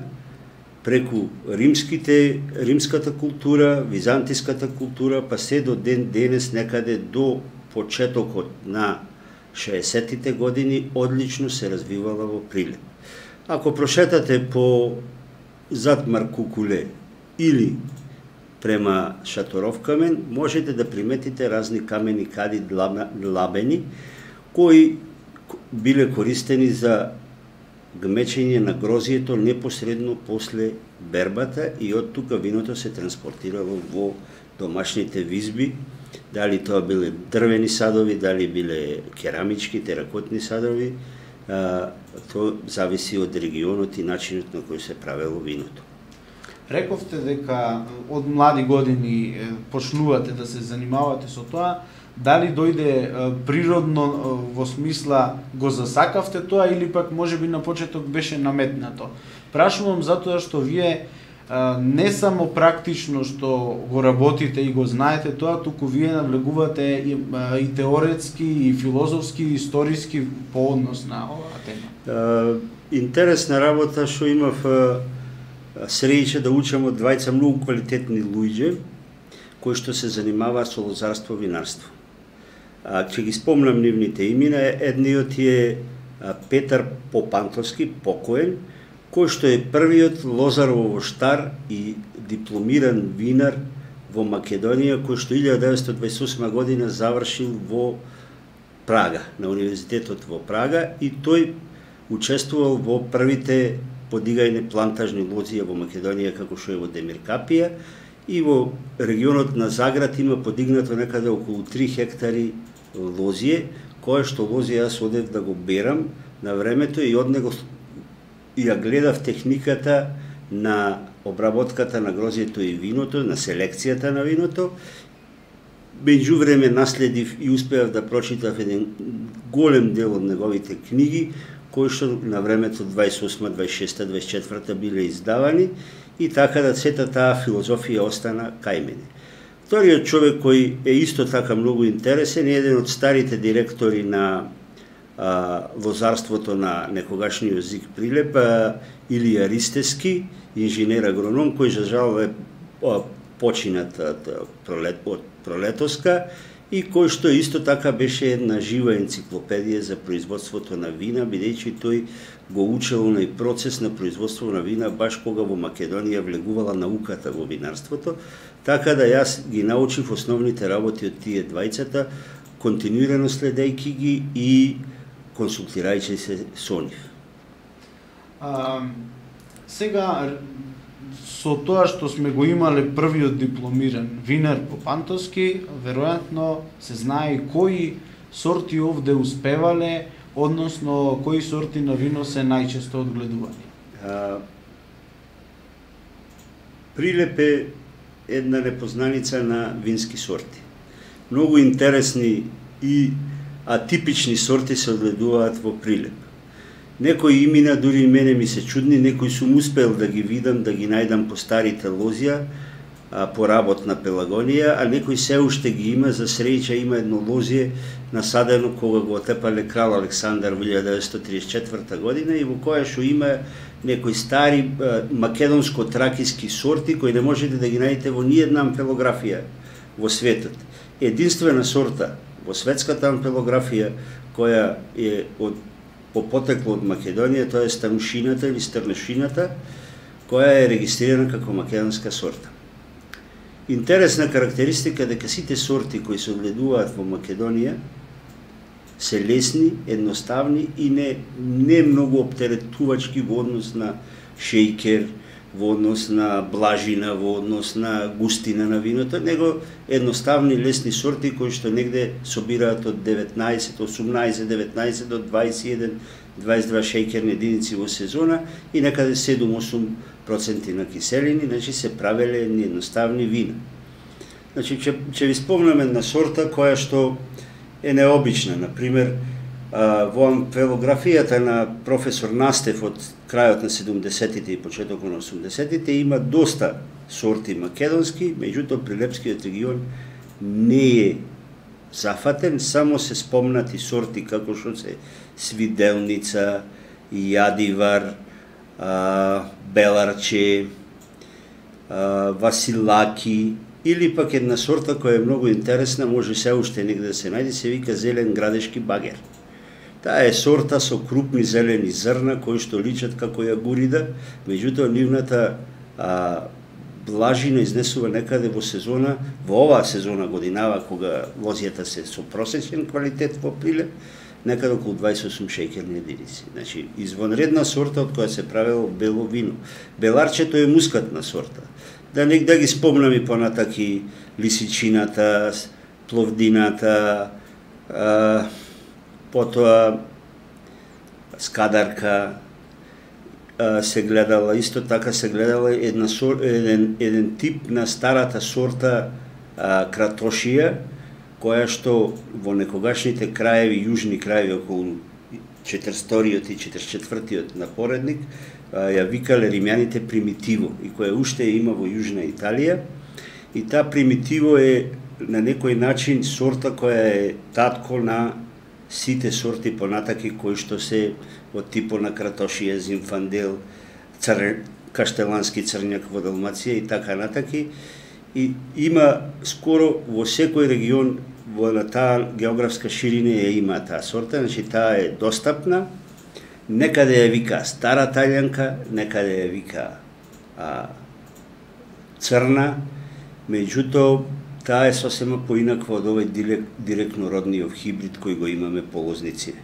преку римските, римската култура, византиската култура, па се до ден денес некаде до почетокот на шеесеттите години одлично се развивала во Прилеп. Ако прошетате по зад Маркукуле или према Шаторовкамен, можете да приметите разни камени кади длабени, кои биле користени за гмечење на грозието непосредно после бербата и од тука виното се транспортирало во домашните визби, дали тоа биле дрвени садови, дали биле керамички, теракотни садови, а, тоа зависи од регионот и начинот на кој се правело виното. Рековте дека од млади години почнувате да се занимавате со тоа, дали дојде природно во смисла го засакавте тоа или пак можеби на почеток беше наметнато? Прашувам затоа што вие не само практично што го работите и го знаете тоа, туку вие навлегувате и, и теоретски, и филозофски, и историски по однос на оваа тема. Интересна работа што имав среќа да учам од двајца многу квалитетни луѓе кои што се занимаваат со лозарство и винарство. А, ќе ги спомнам нивните имена, едниот е Петар Попантовски, покоен, кој што е првиот лозар овоштар и дипломиран винар во Македонија, кој што илјада деветстотини дваесет и осма година завршил во Прага, на универзитетот во Прага, и тој учествувал во првите подигајне плантажни лозија во Македонија, како што е во Демиркапија, и во регионот на Заград има подигнато некаде околу три хектари лозие, кое што лозија јас одев да го берам на времето и од него и ја гледав техниката на обработката на грозието и виното, на селекцијата на виното. Меѓувреме наследив и успеав да прочитав еден голем дел од неговите книги, кои што на времето дваесет и осма, дваесет и шеста, дваесет и четврта биле издавани, и така да сета таа филозофија остана кај мене. Вториот човек кој е исто така многу интересен е еден од старите директори на а, лозарството на некогашниот ЗИК Прилеп, а, Илија Ристески, инженер агроном, кој за жал е а, починат од, пролет, од Пролетоска, и кој што исто така беше една жива енциклопедија за производството на вина, бидејќи тој го учел на процес на производство на вина баш кога во Македонија влегувала науката во винарството, така да јас ги научив основните работи од тие двајцата, континуирано следејќи ги и консултирајќи се со нив. А, сега, со тоа што сме го имале првиот дипломиран винар Попантовски, веројатно се знае кои сорти овде успевале, односно кои сорти на вино се најчесто одгледувани. А, Прилеп е една непознаница на вински сорти. Многу интересни и атипични сорти се одгледуваат во Прилеп. Некои имена дури и мене ми се чудни, некои сум успел да ги видам, да ги најдам по старите лозија, а, поработна пелагонија, а некои се уште ги има. За среќа има едно лозие насадено кога го отепале крал Александар во илјада деветстотини триесет и четврта година и во која што има некои стари македонско-тракиски сорти кои не можете да ги најдете во ниедна ампелографија во светот. Единствена сорта во светската ампелографија која е од по потекло од Македонија, тоа е станушината или стрнешината, која е регистрирана како македонска сорта. Интересна карактеристика дека сите сорти кои се одгледуваат во Македонија се лесни, едноставни и не не многу оптеретувачки во однос на шејкер, во однос на блажина, во однос на густина на виното, него едноставни, лесни сорти кои што негде собираат од деветнаесет, осумнаесет, деветнаесет до дваесет и еден, дваесет и два шејкерни единици во сезона и некаде седум-осум проценти на киселини, значи се правеле едноставни вина. Значи, ќе, ќе ви спомнам една сорта која што е необична. Например, во ампелографијата на професор Настев од крајот на седумдесетите и почетокот на осумдесетите има доста сорти македонски, меѓутоа Прилепскиот регион не е зафатен, само се спомнати сорти како што се Свиделница, Јадивар, Беларче, Василаки, или пак една сорта која е многу интересна, може се уште негде да се најде, се вика зелен градешки багер. Таа е сорта со крупни зелени зрна кои што личат како јагурида, меѓутоа нивната а, блажина изнесува некаде во сезона, во оваа сезона годинава кога лозијата се со просечен квалитет во Прилеп, некаде околу дваесет и осум шејкерни единици. Значи, извонредна сорта од која се правело бело вино. Беларчето е мускатна сорта. Да не да ги спомнам и понатак и лисичината, пловдината, а, потоа скадарка, а, се гледала, исто така се гледала една, еден, еден тип на старата сорта а, кратошија, која што во некогашните краеви, јужни краеви околу четиристотиниот и четиридесет и четвртиот на поредник, ја викале римјаните примитиво и која уште има во Јужна Италија. И таа примитиво е на некој начин сорта која е татко на сите сорти понатаки кои што се од типо на кратошија, зимфандел, цр... каштелански црњак во Далмација и така натаки. И има скоро во секој регион во на таа географска ширина ја има таа сорта, значи таа е достапна. Некаде ја вика стара таљанка, некаде ја вика а, црна, меѓутоа таа е сосема поинаква од овој директно родниот хибрид кој го имаме по лозници.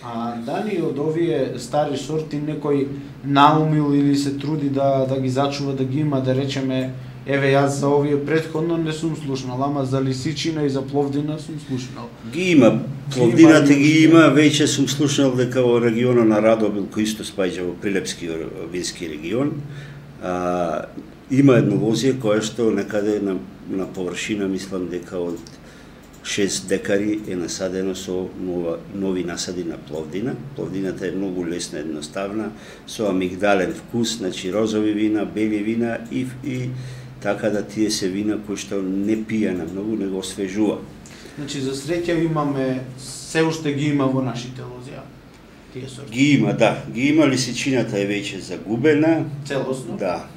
А дали од овие стари сорти некој наумил или се труди да да ги зачува, да ги има, да речеме, еве јас за овие претходно не сум слушнал, ама за лисичина и за пловдина сум слушнал. Ги има, пловдината ги има, веќе сум слушнал дека во регионот на Радобил, кој исто спаѓа во Прилепски вински регион, а, има едно лозие кое што некаде на, на површина, мислам дека од шест декари е насадено со нова, нови насади на пловдина. Пловдината е многу лесна, едноставна, со амигдален вкус, значи розови вина, бели вина и, и така да тие се вина кои што не пија на многу, не го освежува. Значи за среќа имаме, се уште ги има во нашите лозија тие сорти. Ги има, да, ги има, лисичината е веќе загубена. Целосно? Да.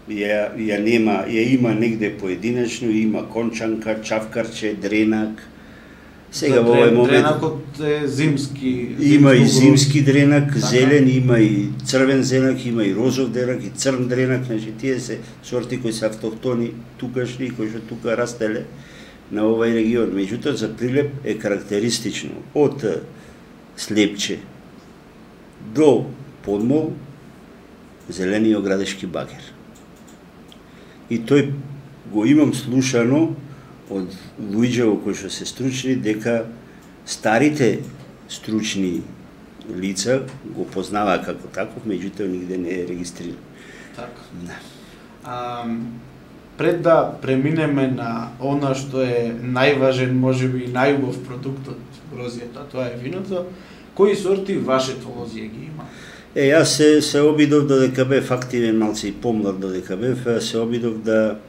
Ја, ја нема, ја има негде поединечно, има кончанка, чавкарче, дренак. Сега во овој момент дренакот е зимски. Има и зимски дренак, така, зелен, има и црвен дренак, има и розов дренак, и црн дренак, значи тие се сорти кои се автохтони тукашни, кои што тука растеле на овој регион. Меѓутоа за Прилеп е карактеристично од Слепче до Подмол зелениот градешки багер. И тој го имам слушано од луѓе кои што се стручни дека старите стручни лица го познаваа како таков, меѓутоа нигде не е регистриран. Така. Да. А, пред да преминеме на она што е најважен, можеби и најубав продукт од лозијата, тоа е виното, кои сорти вашето лозие ги има? Е, јас се, се обидов додека бев активен, малце и помлад додека бев, се обидов да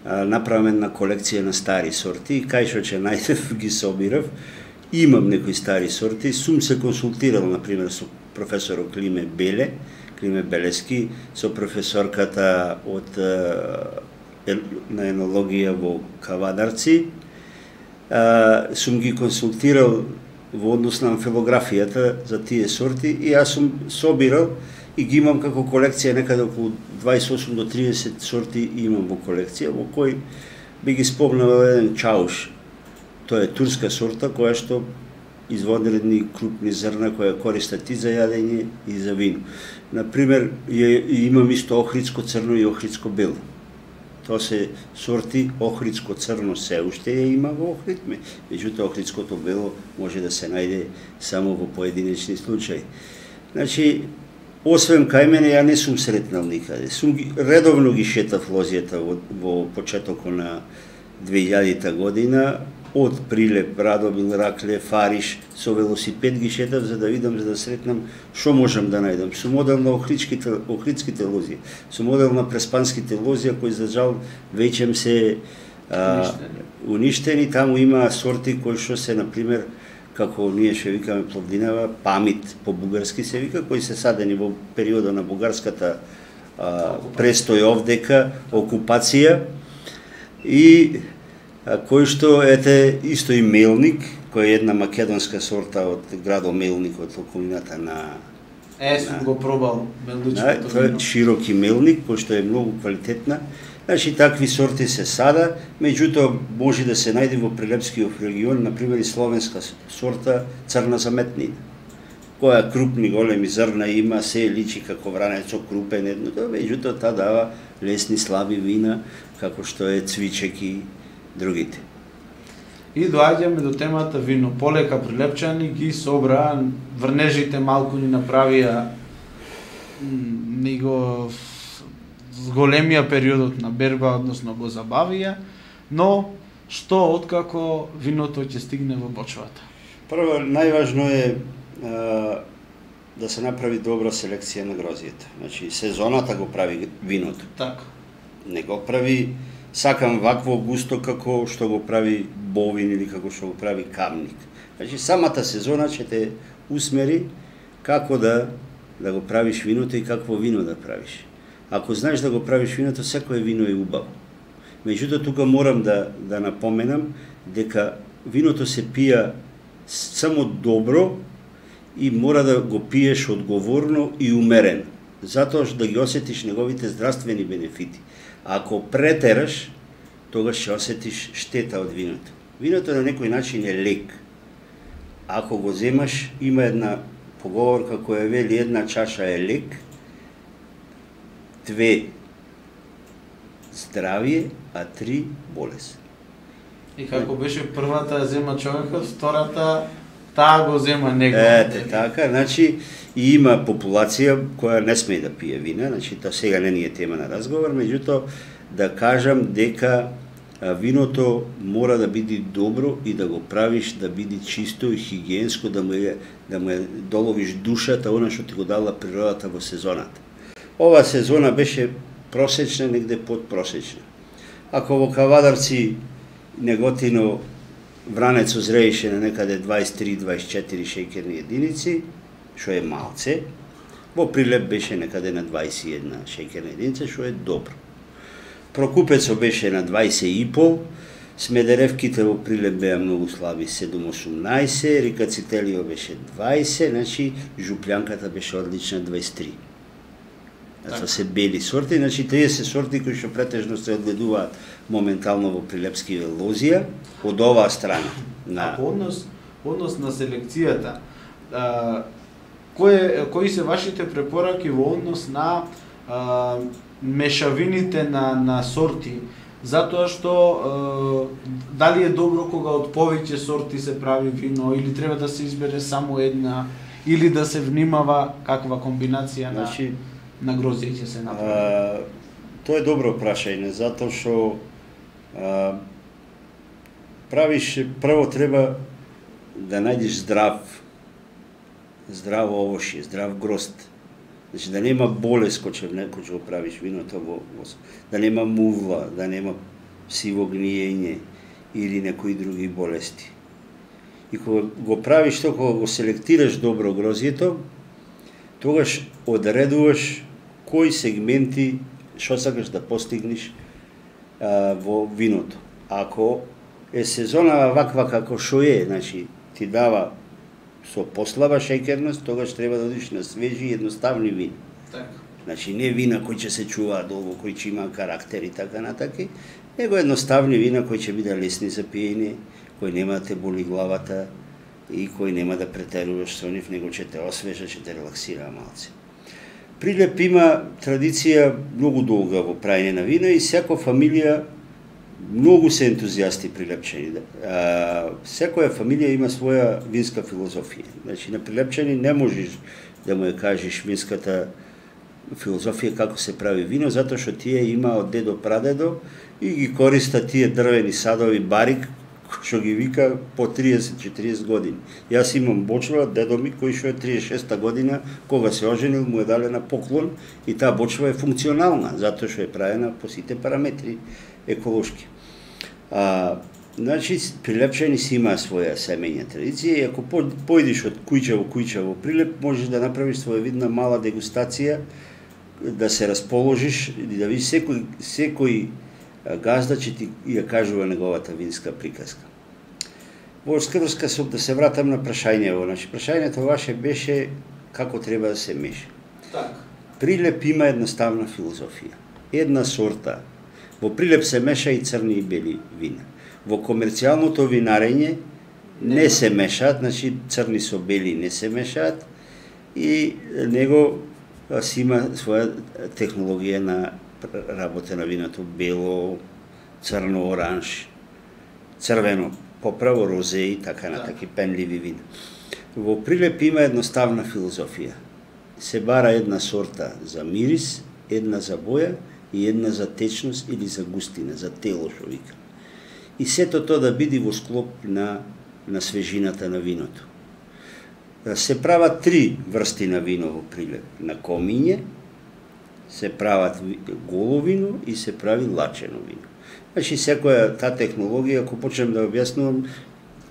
направам една колекција на стари сорти и кај што ќе најдев ги собирав. Имам некои стари сорти, сум се консултирал например со професорот Климе Беле, Климе Белески, со професорката од на енологија во Кавадарци. Сум ги консултирал во однос на амфилографијата за тие сорти и јас сум собирал и ги имам како колекција некаде околу дваесет и осум до триесет сорти имам во колекција, во кој би ги спомнал еден чауш. Тоа е турска сорта која што изводи едни крупни зрна која користат и за јадење и за вино. Например, имам исто охридско црно и охридско бело. Тоа се сорти охридско црно се уште ја има во охридме, меѓутоа охридското бело може да се најде само во поединечни случаи. Значи, освен кај мене, ја не сум сретнал никаде. Сум ги, редовно ги шетав лозијата во, во почетокот на две илјадита година, од Прилеп, Радомил, Ракле, Фариш, со велосипед ги шетав за да видам, за да сретнам што можам да најдам. Со модел на охридските, охридските лозија, со модел на преспанските лозија, кои за жал веќе се а, уништени. Таму има сорти кои што се, например, како ние што викаме плодинава, памит по бугарски се вика, кои се садени во периода на бугарската а, престој овдека, окупација, и а, кој што ете исто и мелник, кој е една македонска сорта од градот Мелник, од околината на Е, сум го пробал мелничкото. Тоа е широки мелник, кој што е многу квалитетна. Значи, такви сорти се сада, меѓутоа може да се најде во Прилепскиот регион, например и словенска сорта црна заметнина, која крупни големи зрна има, се личи како вранецо крупен едното, меѓутоа таа дава лесни слаби вина, како што е цвичек и другите. И доаѓаме до темата вино. Полека прилепчани ги собраа, врнежите малку ни направија ни го зголемија периодот на берба, односно го забавија, но што откако виното ќе стигне во бочвата? Прво, најважно е а, да се направи добра селекција на грозијата. Значи, сезоната го прави виното. Така. Не го прави сакам вакво густо како што го прави Бовин или како што го прави Камник. Значи, самата сезона ќе те усмери како да, да го правиш виното и какво вино да правиш. Ако знаеш да го правиш виното, секое вино е убаво. Меѓутоа, тука морам да, да напоменам дека виното се пија само добро и мора да го пиеш одговорно и умерено, затоа што да ги осетиш неговите здравствени бенефити. Ако претераш, тогаш ќе осетиш штета од виното. Виното на некој начин е лек. Ако го земаш, има една поговорка која вели една чаша е лек, две здравие, а три болест. И како беше првата зема човекот, втората таа го зема него. Ете, така, значи и има популација која не смее да пие вина, значи тоа сега не ни е тема на разговор, меѓутоа да кажам дека виното мора да биде добро и да го правиш да биде чисто и хигиенско, да му е, да му е доловиш душата, она што ти го дала природата во сезоната. Ова сезона беше просечна, негде подпросечна. Ако во Кавадарци неготино вранецо зрееше на некаде дваесет и три до дваесет и четири шеќерни единици, што е малце, во Прилеп беше некаде на дваесет и една шеќерна единица, што е добро. Прокупецо беше на дваесет и пол, Смедеревките во Прилеп беа многу слаби, седум осумнаесет, Рикацителио беше дваесет, значи Жуплјанката беше одлична дваесет и три. Тоа се бели сорти, значи триесет сорти кои што претежно се одгледуваат моментално во прилепски лозија од оваа страна. На а однос однос на селекцијата, а, кои кои се вашите препораки во однос на а, мешавините на на сорти, затоа што а, дали е добро кога од повеќе сорти се прави вино или треба да се избере само една или да се внимава каква комбинација на значи, на грозје ќе се направи? А, тоа е добро прашање, затоа што а, правиш, прво треба да најдеш здрав, здраво овошје, здрав грозд. Значи да нема болест кој ќе, кој ќе го правиш виното во, во да нема мувла, да нема сиво гниење или некои други болести. И кога го правиш тоа, кога го селектираш добро грозјето, тогаш одредуваш кои сегменти што сакаш да постигнеш а, во виното. Ако е сезона ваква како што е, значи ти дава со послаба шеќерност, тогаш треба да одиш на свежи и едноставни вина. Така. Значи не вина кои ќе се чуваат долго, кои ќе има карактер и така натаки, него едноставни вина кои ќе биде лесни за пиење, кои нема да те боли главата и кои нема да претеруваш со нив, него ќе те освежа, ќе те релаксира малце. Прилеп има традиција многу долга во праење на вина и секоја фамилија многу се ентузијасти прилепчани. А, секоја фамилија има своја винска филозофија. Значи на прилепчани не можеш да му ја кажеш винската филозофија како се прави вино, затоа што тие има од дедо прадедо и ги користа тие дрвени садови барик, што ги вика по триесет до четириесет години. Јас имам бочва, дедо ми, кој што е триесет и шеста година, кога се оженил, му е дале на поклон и таа бочва е функционална, затоа што е правена по сите параметри еколошки. А, значи, прилепчани си има своја семејна традиција и ако појдеш од кујча во кујча во Прилеп, можеш да направиш своевидна мала дегустација, да се расположиш и да видиш секој, секој газда ќе ти ја кажува неговата винска приказка. Во скрска сум да се вратам на прашањево. Значи, прашањето ваше беше како треба да се меша. Так. Прилеп има едноставна филозофија. Една сорта. Во Прилеп се меша и црни и бели вина. Во комерцијалното винарење не се мешаат, значи црни со бели не се мешаат и него си има своја технологија на работа на виното, бело, црно, оранж, црвено, поправо, розе и така натаки пенливи вина. Во Прилеп има едноставна филозофија. Се бара една сорта за мирис, една за боја и една за течност или за густина, за тело што вика. И сето тоа да биде во склоп на, на свежината на виното. Се прават три врсти на вино во Прилеп. На комиње, се прават голо вино и се прави лачено вино. Значи, секоја таа технологија, ако почнем да објаснувам,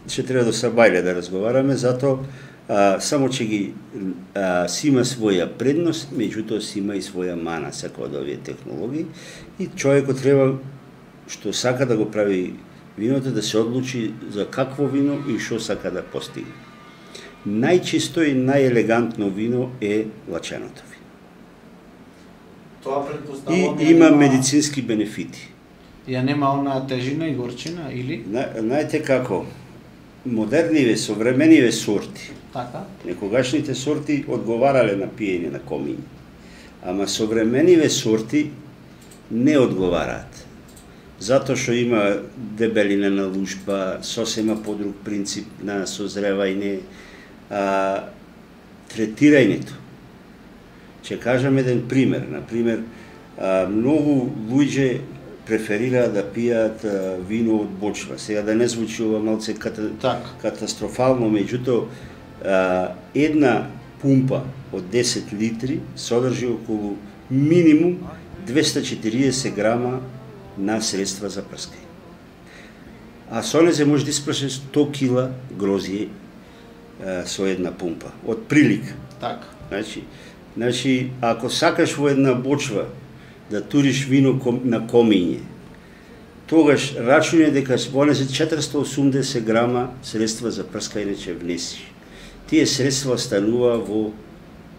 ќе треба до Сабајле да разговараме, затоа а, само че ги а, си има своја предност, меѓутоа си има и своја мана, секоја од овие технологии, и човекот треба, што сака да го прави виното, да се одлучи за какво вино и што сака да постигне. Најчисто и најелегантно вино е лаченото вино. Тоа предпоставувам И има медицински бенефити. Ја нема онаа тежина и горчина или? Знаете како, модерниве, современиве сорти, Така. некогашните сорти одговарале на пиење на комиња, ама современиве сорти не одговараат. Затоа што има дебелина на лушпа, сосема по друг принцип на созревање, а, третирањето. Ќе кажам еден пример. Например, а, многу луѓе преферираат да пијат а, вино од бочва. Сега да не звучи ова малце ката, Так. катастрофално, меѓутоа а, една пумпа од десет литри содржи околу минимум двесте и четириесет грама на средства за прскање. А со незе може да испрашиш сто кила грозје а, со една пумпа, од прилика. Така. Значи, значи, ако сакаш во една бочва да туриш вино ком, на комиње, тогаш рачуне дека во незе четиристо и осумдесет грама средства за прскање ќе внесиш. Тие средства станува во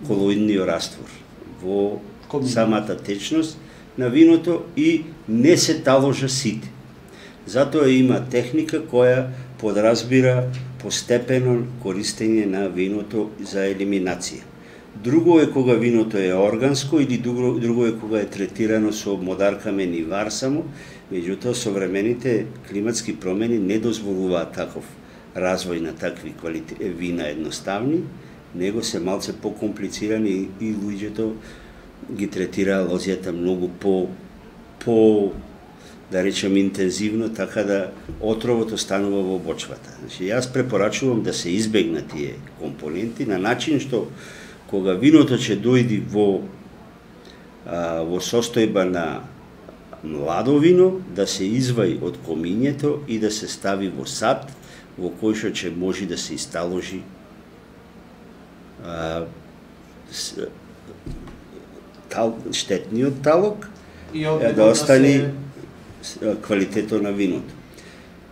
колоидниот раствор, во Комиње. самата течност на виното и не се таложа сите. Затоа има техника која подразбира постепено користење на виното за елиминација. Друго е кога виното е органско или друго, друго е кога е третирано со модаркамен и вар само, меѓутоа современите климатски промени не дозволуваат таков развој на такви квалите, вина едноставни, него се малце покомплицирани и луѓето ги третира лозјата многу по, по да речем интензивно, така да отровото станува во бочвата. Значи, јас препорачувам да се избегнат тие компоненти на начин што кога виното ќе дојди во а, во состојба на младо вино да се изваи од комињето и да се стави во сад во кој што ќе може да се исталожи а, с, тал, штетниот талок И е, да остане се... квалитетот на виното.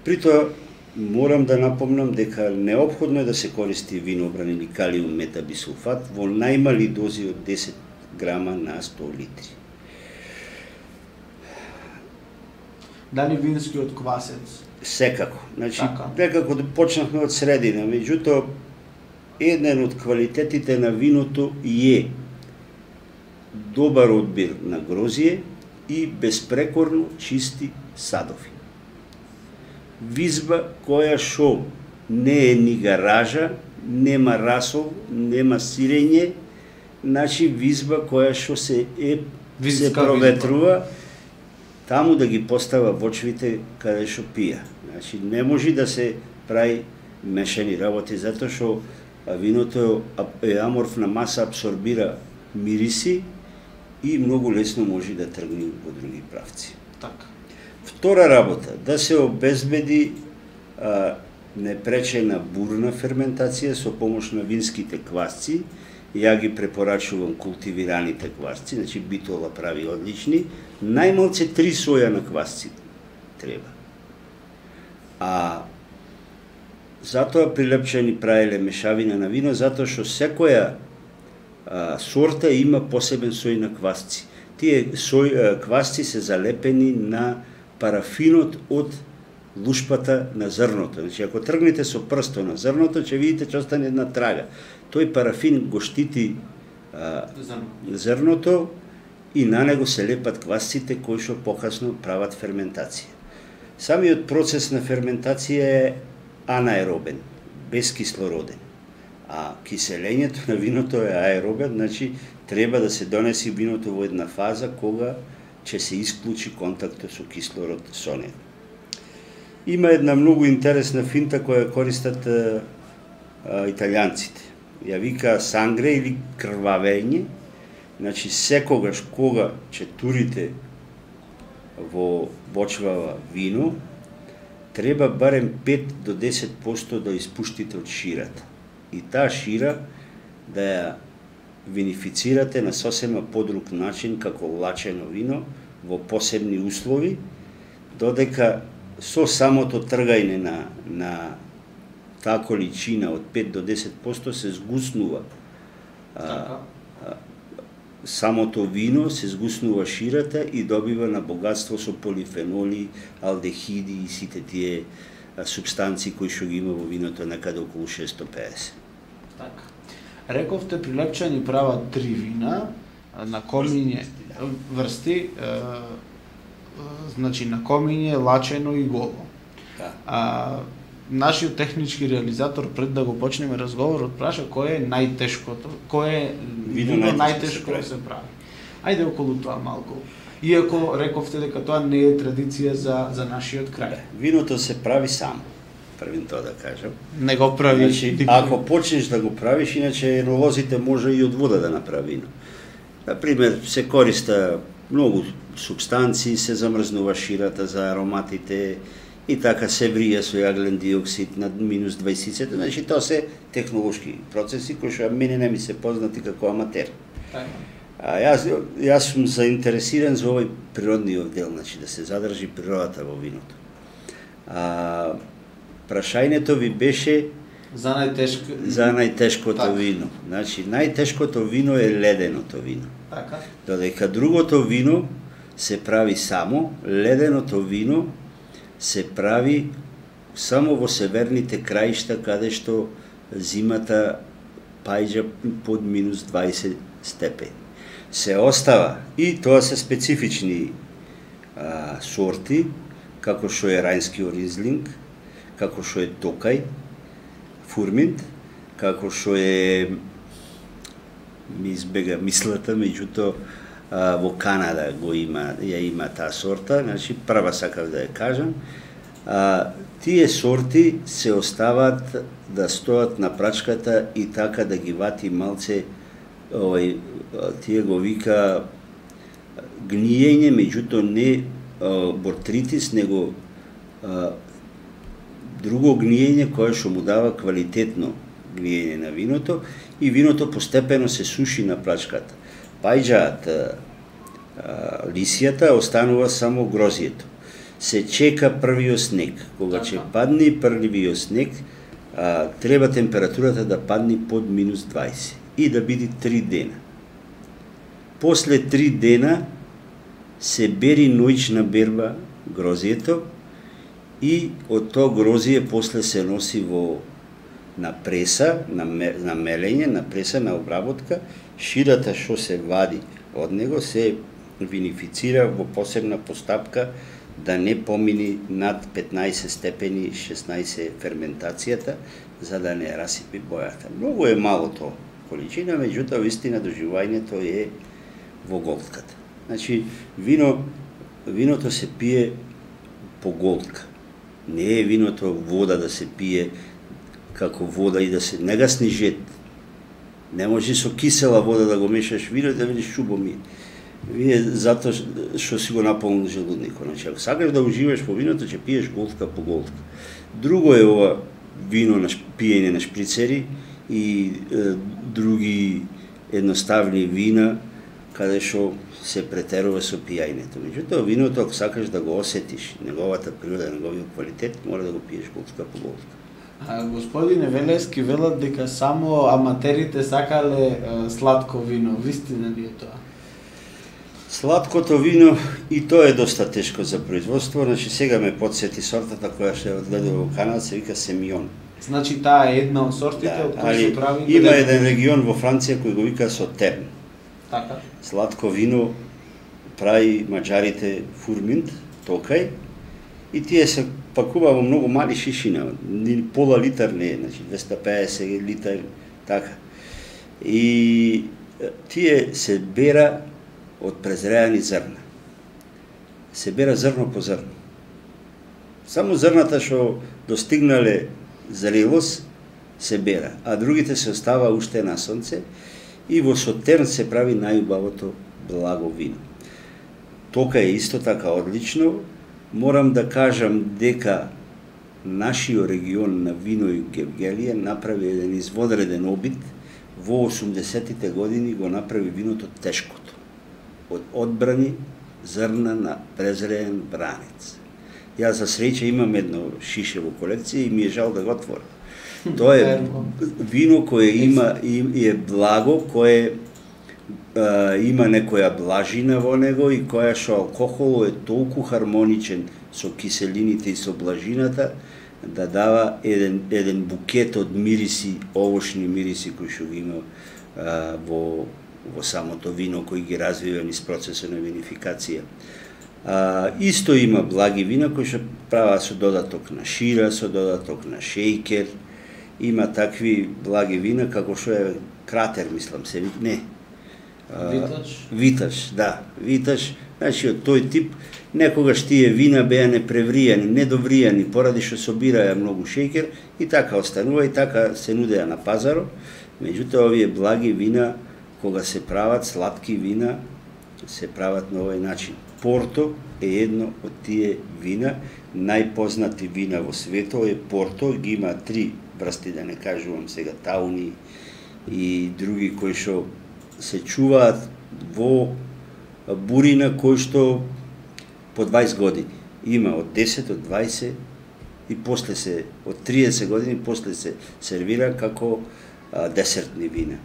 При тоа морам да напомнам дека неопходно е да се користи винобран или калиум метабисулфат во најмали дози од десет грама на сто литри. Дали винскиот квасец? Секако. Значи, така. Некако да почнахме од средина, меѓутоа еден од квалитетите на виното е добар одбир на грозие и безпрекорно чисти садови. Визба која шо не е ни гаража, нема расол, нема сирење, значи визба која шо се е Визка се проветрува, таму да ги постава вочвите каде шо пија. Значи не може да се прави мешани работи, затоа што виното е аморфна маса, абсорбира мириси и многу лесно може да тргне во други правци. Така. Втора работа, да се обезбеди а, непречена бурна ферментација со помош на винските квасци. Ја ги препорачувам култивираните квасци, значи Битола прави одлични. Најмалце три соја на квасци треба. А затоа прилепчани правеле мешавина на вино, затоа што секоја а, сорта има посебен сој на квасци. Тие сој, а, квасци се залепени на парафинот од лушпата на зрното. Значи, ако тргнете со прсто на зрното, ќе видите че остане една трага. Тој парафин го штити а, зрното и на него се лепат квасците кои што покасно прават ферментација. Самиот процес на ферментација е анаеробен, безкислороден. А киселењето на виното е аеробен, значи треба да се донеси виното во една фаза кога ќе се исклучи контактот со кислород со него. Има една многу интересна финта која користат а, а, италијанците. Ја вика сангре или крвавење. Значи секогаш кога ќе турите во бочвава вино, треба барем пет до десет проценти да испуштите од ширата. И таа шира да ја винифицирате на сосема подруг начин како лачено вино во посебни услови, додека со самото тргајне на, на таа количина од пет до десет проценти се згуснува а, а, самото вино, се згуснува ширата и добива на богатство со полифеноли, алдехиди и сите тие а, субстанции кои што ги има во виното некаде околу шестоста и педесет. Така. Рековте прилепчани прават три вина на комиње врсти, е, значи на комиње, лачено и голо. Да. А, нашиот технички реализатор пред да го почнеме разговорот праша кој е најтешкото, кој е Вино вино најтешко најтешко да се се прави. Ајде околу тоа малку. Иако рековте дека тоа не е традиција за за нашиот крај. Виното се прави само. Првин тоа да кажам. Не го прави. Значи, ако почнеш да го правиш, иначе енолозите може и од вода да направи вино. Например, се користа многу субстанции, се замрзнува ширата за ароматите и така се врија со јаглен диоксид на минус дваесет. Значи, тоа се технолошки процеси кои што мене не ми се познати како аматер. А јас, јас сум заинтересиран за овој природниот дел, значи да се задржи природата во виното. А, прашањето ви беше за најтешко за најтешкото така. вино. Значи, најтешкото вино е леденото вино. Така. Додека другото вино се прави само, леденото вино се прави само во северните краишта, каде што зимата паѓа под минус дваесет степени. Се остава, и тоа се специфични а, сорти, како што е рајнски ризлинг, како што е токај, фурминт, како што е, ми избега мислата, меѓутоа во Канада го има, ја има таа сорта, значи прва сакав да ја кажам. А, тие сорти се остават да стоат на прачката и така да ги вати малце, овај, тие го вика гниење, меѓутоа не бортритис, него а, друго гниење кое што му дава квалитетно гниење на виното и виното постепено се суши на плачката. Пајџаат лисијата, останува само грозието. Се чека првиот снег. Кога ќе падне првиот снег, а, треба температурата да падне под минус дваесет и да биде три дена. После три дена се бери ноќна берба грозието и од тоа грозие после се носи во на преса, на, на мелење, на преса, на обработка. Ширата што се вади од него се винифицира во посебна постапка да не помини над петнаесет степени, шеснаесет ферментацијата, за да не расипи бојата. Многу е мало тоа количина, меѓутоа вистина доживувањето е во голтката. Значи, вино, виното се пие по голтка. Не е виното вода да се пие како вода и да се не гасни жет. Не може со кисела вода да го мешаш вино да видиш чубо ми. Вие затоа што си го наполнил желудникот. Значи, ако сакаш да уживаш по виното, ќе пиеш голтка по голтка. Друго е ова вино на пиење на шприцери и е, други едноставни вина каде што се претерува со пијањето. Меѓутоа, виното, ако сакаш да го осетиш, неговата природа, неговиот квалитет, мора да го пиеш голтка по голтка. А, господине Велески, велат дека само аматерите сакале е, сладко вино. Вистина ли е тоа? Сладкото вино и тоа е доста тешко за производство, значи сега ме подсети сортата која што одгледува во Канада, се вика Семион. Значи таа е една од сортите Да, од кои се прави. Има еден регион во Франција кој го вика Сотерн. Така. Сладко вино прави маđарите фурминт, токај, и тие се пакува во многу мали шишина, ни пола литар не е, значи двеста педесет литар, така. И тие се бера од презреани зрна. Се бера зрно по зрно. Само зрната што достигнале зрелост се бера, а другите се остава уште на сонце и во Сотерн се прави најубавото благо вино. Тока е исто така одлично. Морам да кажам дека нашиот регион на вино и Гевгелија направи еден изводреден обид. Во осумдесетите години го направи виното тешкото. Од одбрани зрна на презреен бранец. Јас за среќа имам едно шише во колекција и ми е жал да го отворам. Тоа е вино кое има и е благо, кое а, има некоја блажина во него и која што алкохолот е толку хармоничен со киселините и со блажината да дава еден еден букет од мириси, овошни мириси кои што ги има а, во во самото вино кои ги развива низ процесот на винификација. А, исто има благи вина кои што прават со додаток на шира, со додаток на шејкер. Има такви благи вина како што е Кратер, мислам се, не. Виташ? Виташ, да. Виташ, значи од тој тип, некогаш тие вина беа непревријани, недовријани, поради што собираја многу шејкер и така останува и така се нудеа на пазарот. Меѓутоа, овие благи вина, кога се прават сладки вина, се прават на овој начин. Порто е едно од тие вина, најпознати вина во светот е Порто, ги има три врсти, да не кажувам сега Тауни и други кои што се чуваат во бурина кои што по дваесет години. Има од десет, од дваесет и после се, од триесет години, после се сервира како а, десертни вина.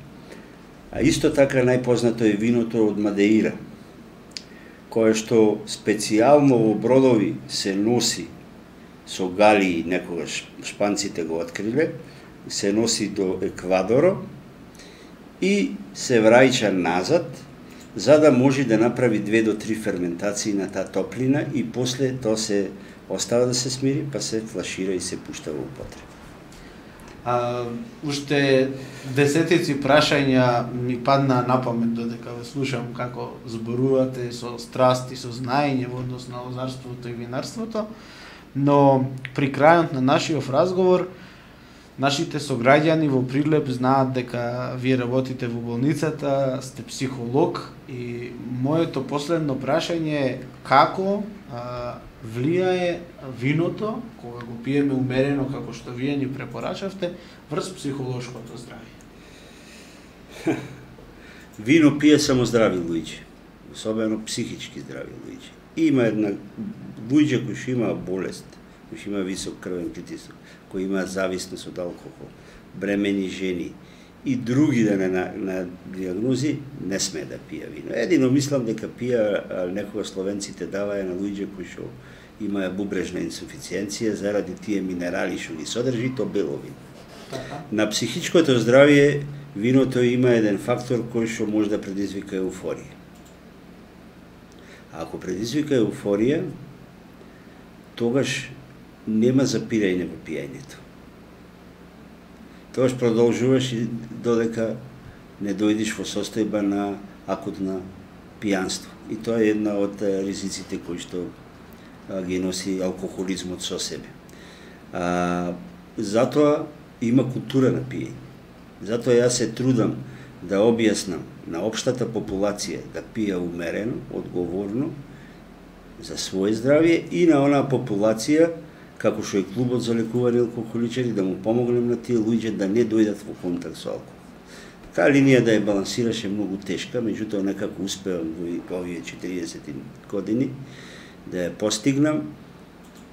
А исто така најпознато е виното од Мадеира, кое што специјално во бродови се носи со галии, некогаш шпанците го откриле, се носи до Еквадоро и се враќа назад, за да може да направи две до три ферментации на таа топлина и после тоа се остава да се смири, па се флашира и се пушта во употреба. А, уште десетици прашања ми падна на памет додека ве слушам како зборувате со страст и со знаење во однос на лозарството и винарството, но при крајот на нашиот разговор Нашите сограѓани во Прилеп знаат дека вие работите во болницата, сте психолог и моето последно прашање е како а, влијае виното, кога го пиеме умерено како што вие ни препорачавте, врз психолошкото здравје? Вино пие само здрави луѓе, особено психички здрави луѓе. Има една луѓе кои што имаа болест, кои што имаа висок крвен притисок, кои имаат зависност од алкохол, бремени жени и други да не на, на диагнози, не сме да пија вино. Едино мислам дека пија некога словенците даваја на луѓе кои што имаа бубрежна инсуфициенција заради тие минерали што ги содржи, то бело вино. На психичкото здравје виното има еден фактор кој што може да предизвика еуфорија. А ако предизвика еуфорија, тогаш нема запирање во пиењето. Тогаш продолжуваш и додека не дојдеш во состојба на акутна пијанство. И тоа е една од ризиците кои што а, ги носи алкохолизмот со себе. А, затоа има култура на пиење. Затоа јас се трудам да објаснам на општата популација да пие умерено, одговорно, за своје здравје и на онаа популација, како што е клубот за лекување алкохоличари, да му помогнем на тие луѓе да не дојдат во контакт со алкохол. Таа линија да ја балансираше многу тешка, меѓутоа некако успеам во овие четириесет години да ја постигнам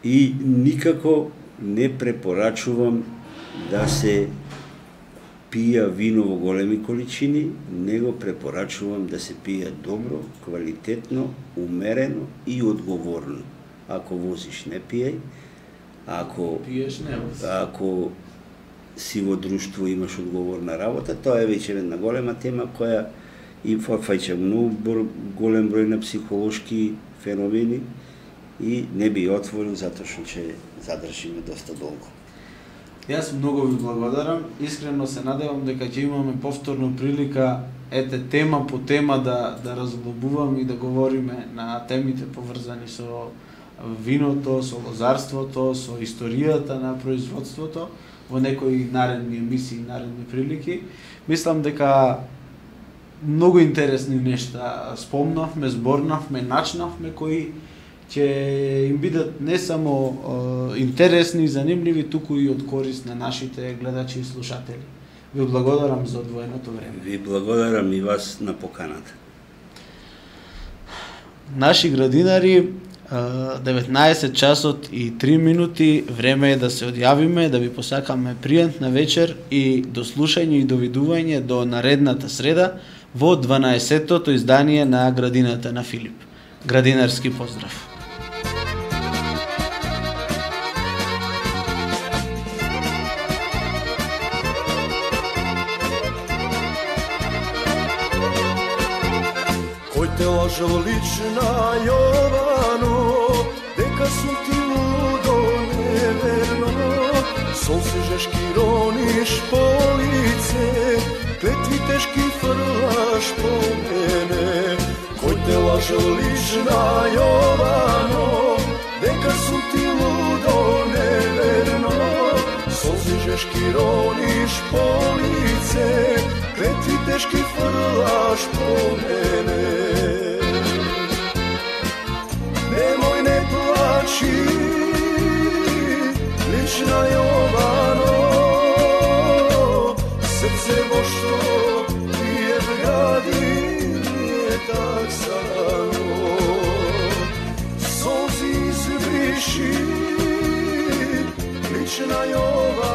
и никако не препорачувам да се пија вино во големи количини, него препорачувам да се пие добро, квалитетно, умерено и одговорно. Ако возиш, не пиеј, ако пиеш, не вози. Ако си во друштво имаш одговорна работа, тоа е веќе една голема тема која и фаќа многу голем број на психолошки феномени и не би отворил затоа што ќе задржиме доста долго. Јас многу ви благодарам, искрено се надевам дека ќе имаме повторно прилика ете тема по тема да да разглобуваме и да говориме на темите поврзани со виното, со лозарството, со историјата на производството во некои наредни емисии, наредни прилики. Мислам дека многу интересни нешта спомнавме, зборнавме, начнавме кои ќе им бидат не само е, интересни и занимливи, туку и од корист на нашите гледачи и слушатели. Ви благодарам за одвоеното време. Ви благодарам и вас на поканата. Наши градинари, деветнаесет часот и три минути, време е да се одјавиме, да ви посакаме пријатна вечер и до слушање и довидување до наредната среда во дванаесеттото издание на Градината на Филип. Градинарски поздрав! Те лажал лична Јовано, дека сум ти лудо неверно. Солзи жешки рониш по лице, клетви тешки фрлаш по мене. Кој те лажал лична Јовано, дека сум ти лудо неверно. Солзи жешки рониш по лице, клетви тешки фрлаш по мене. Немој не плачи, лична Јовано, срце во што ти е вгади, не так сано. Солзи избриши, лична Јовано,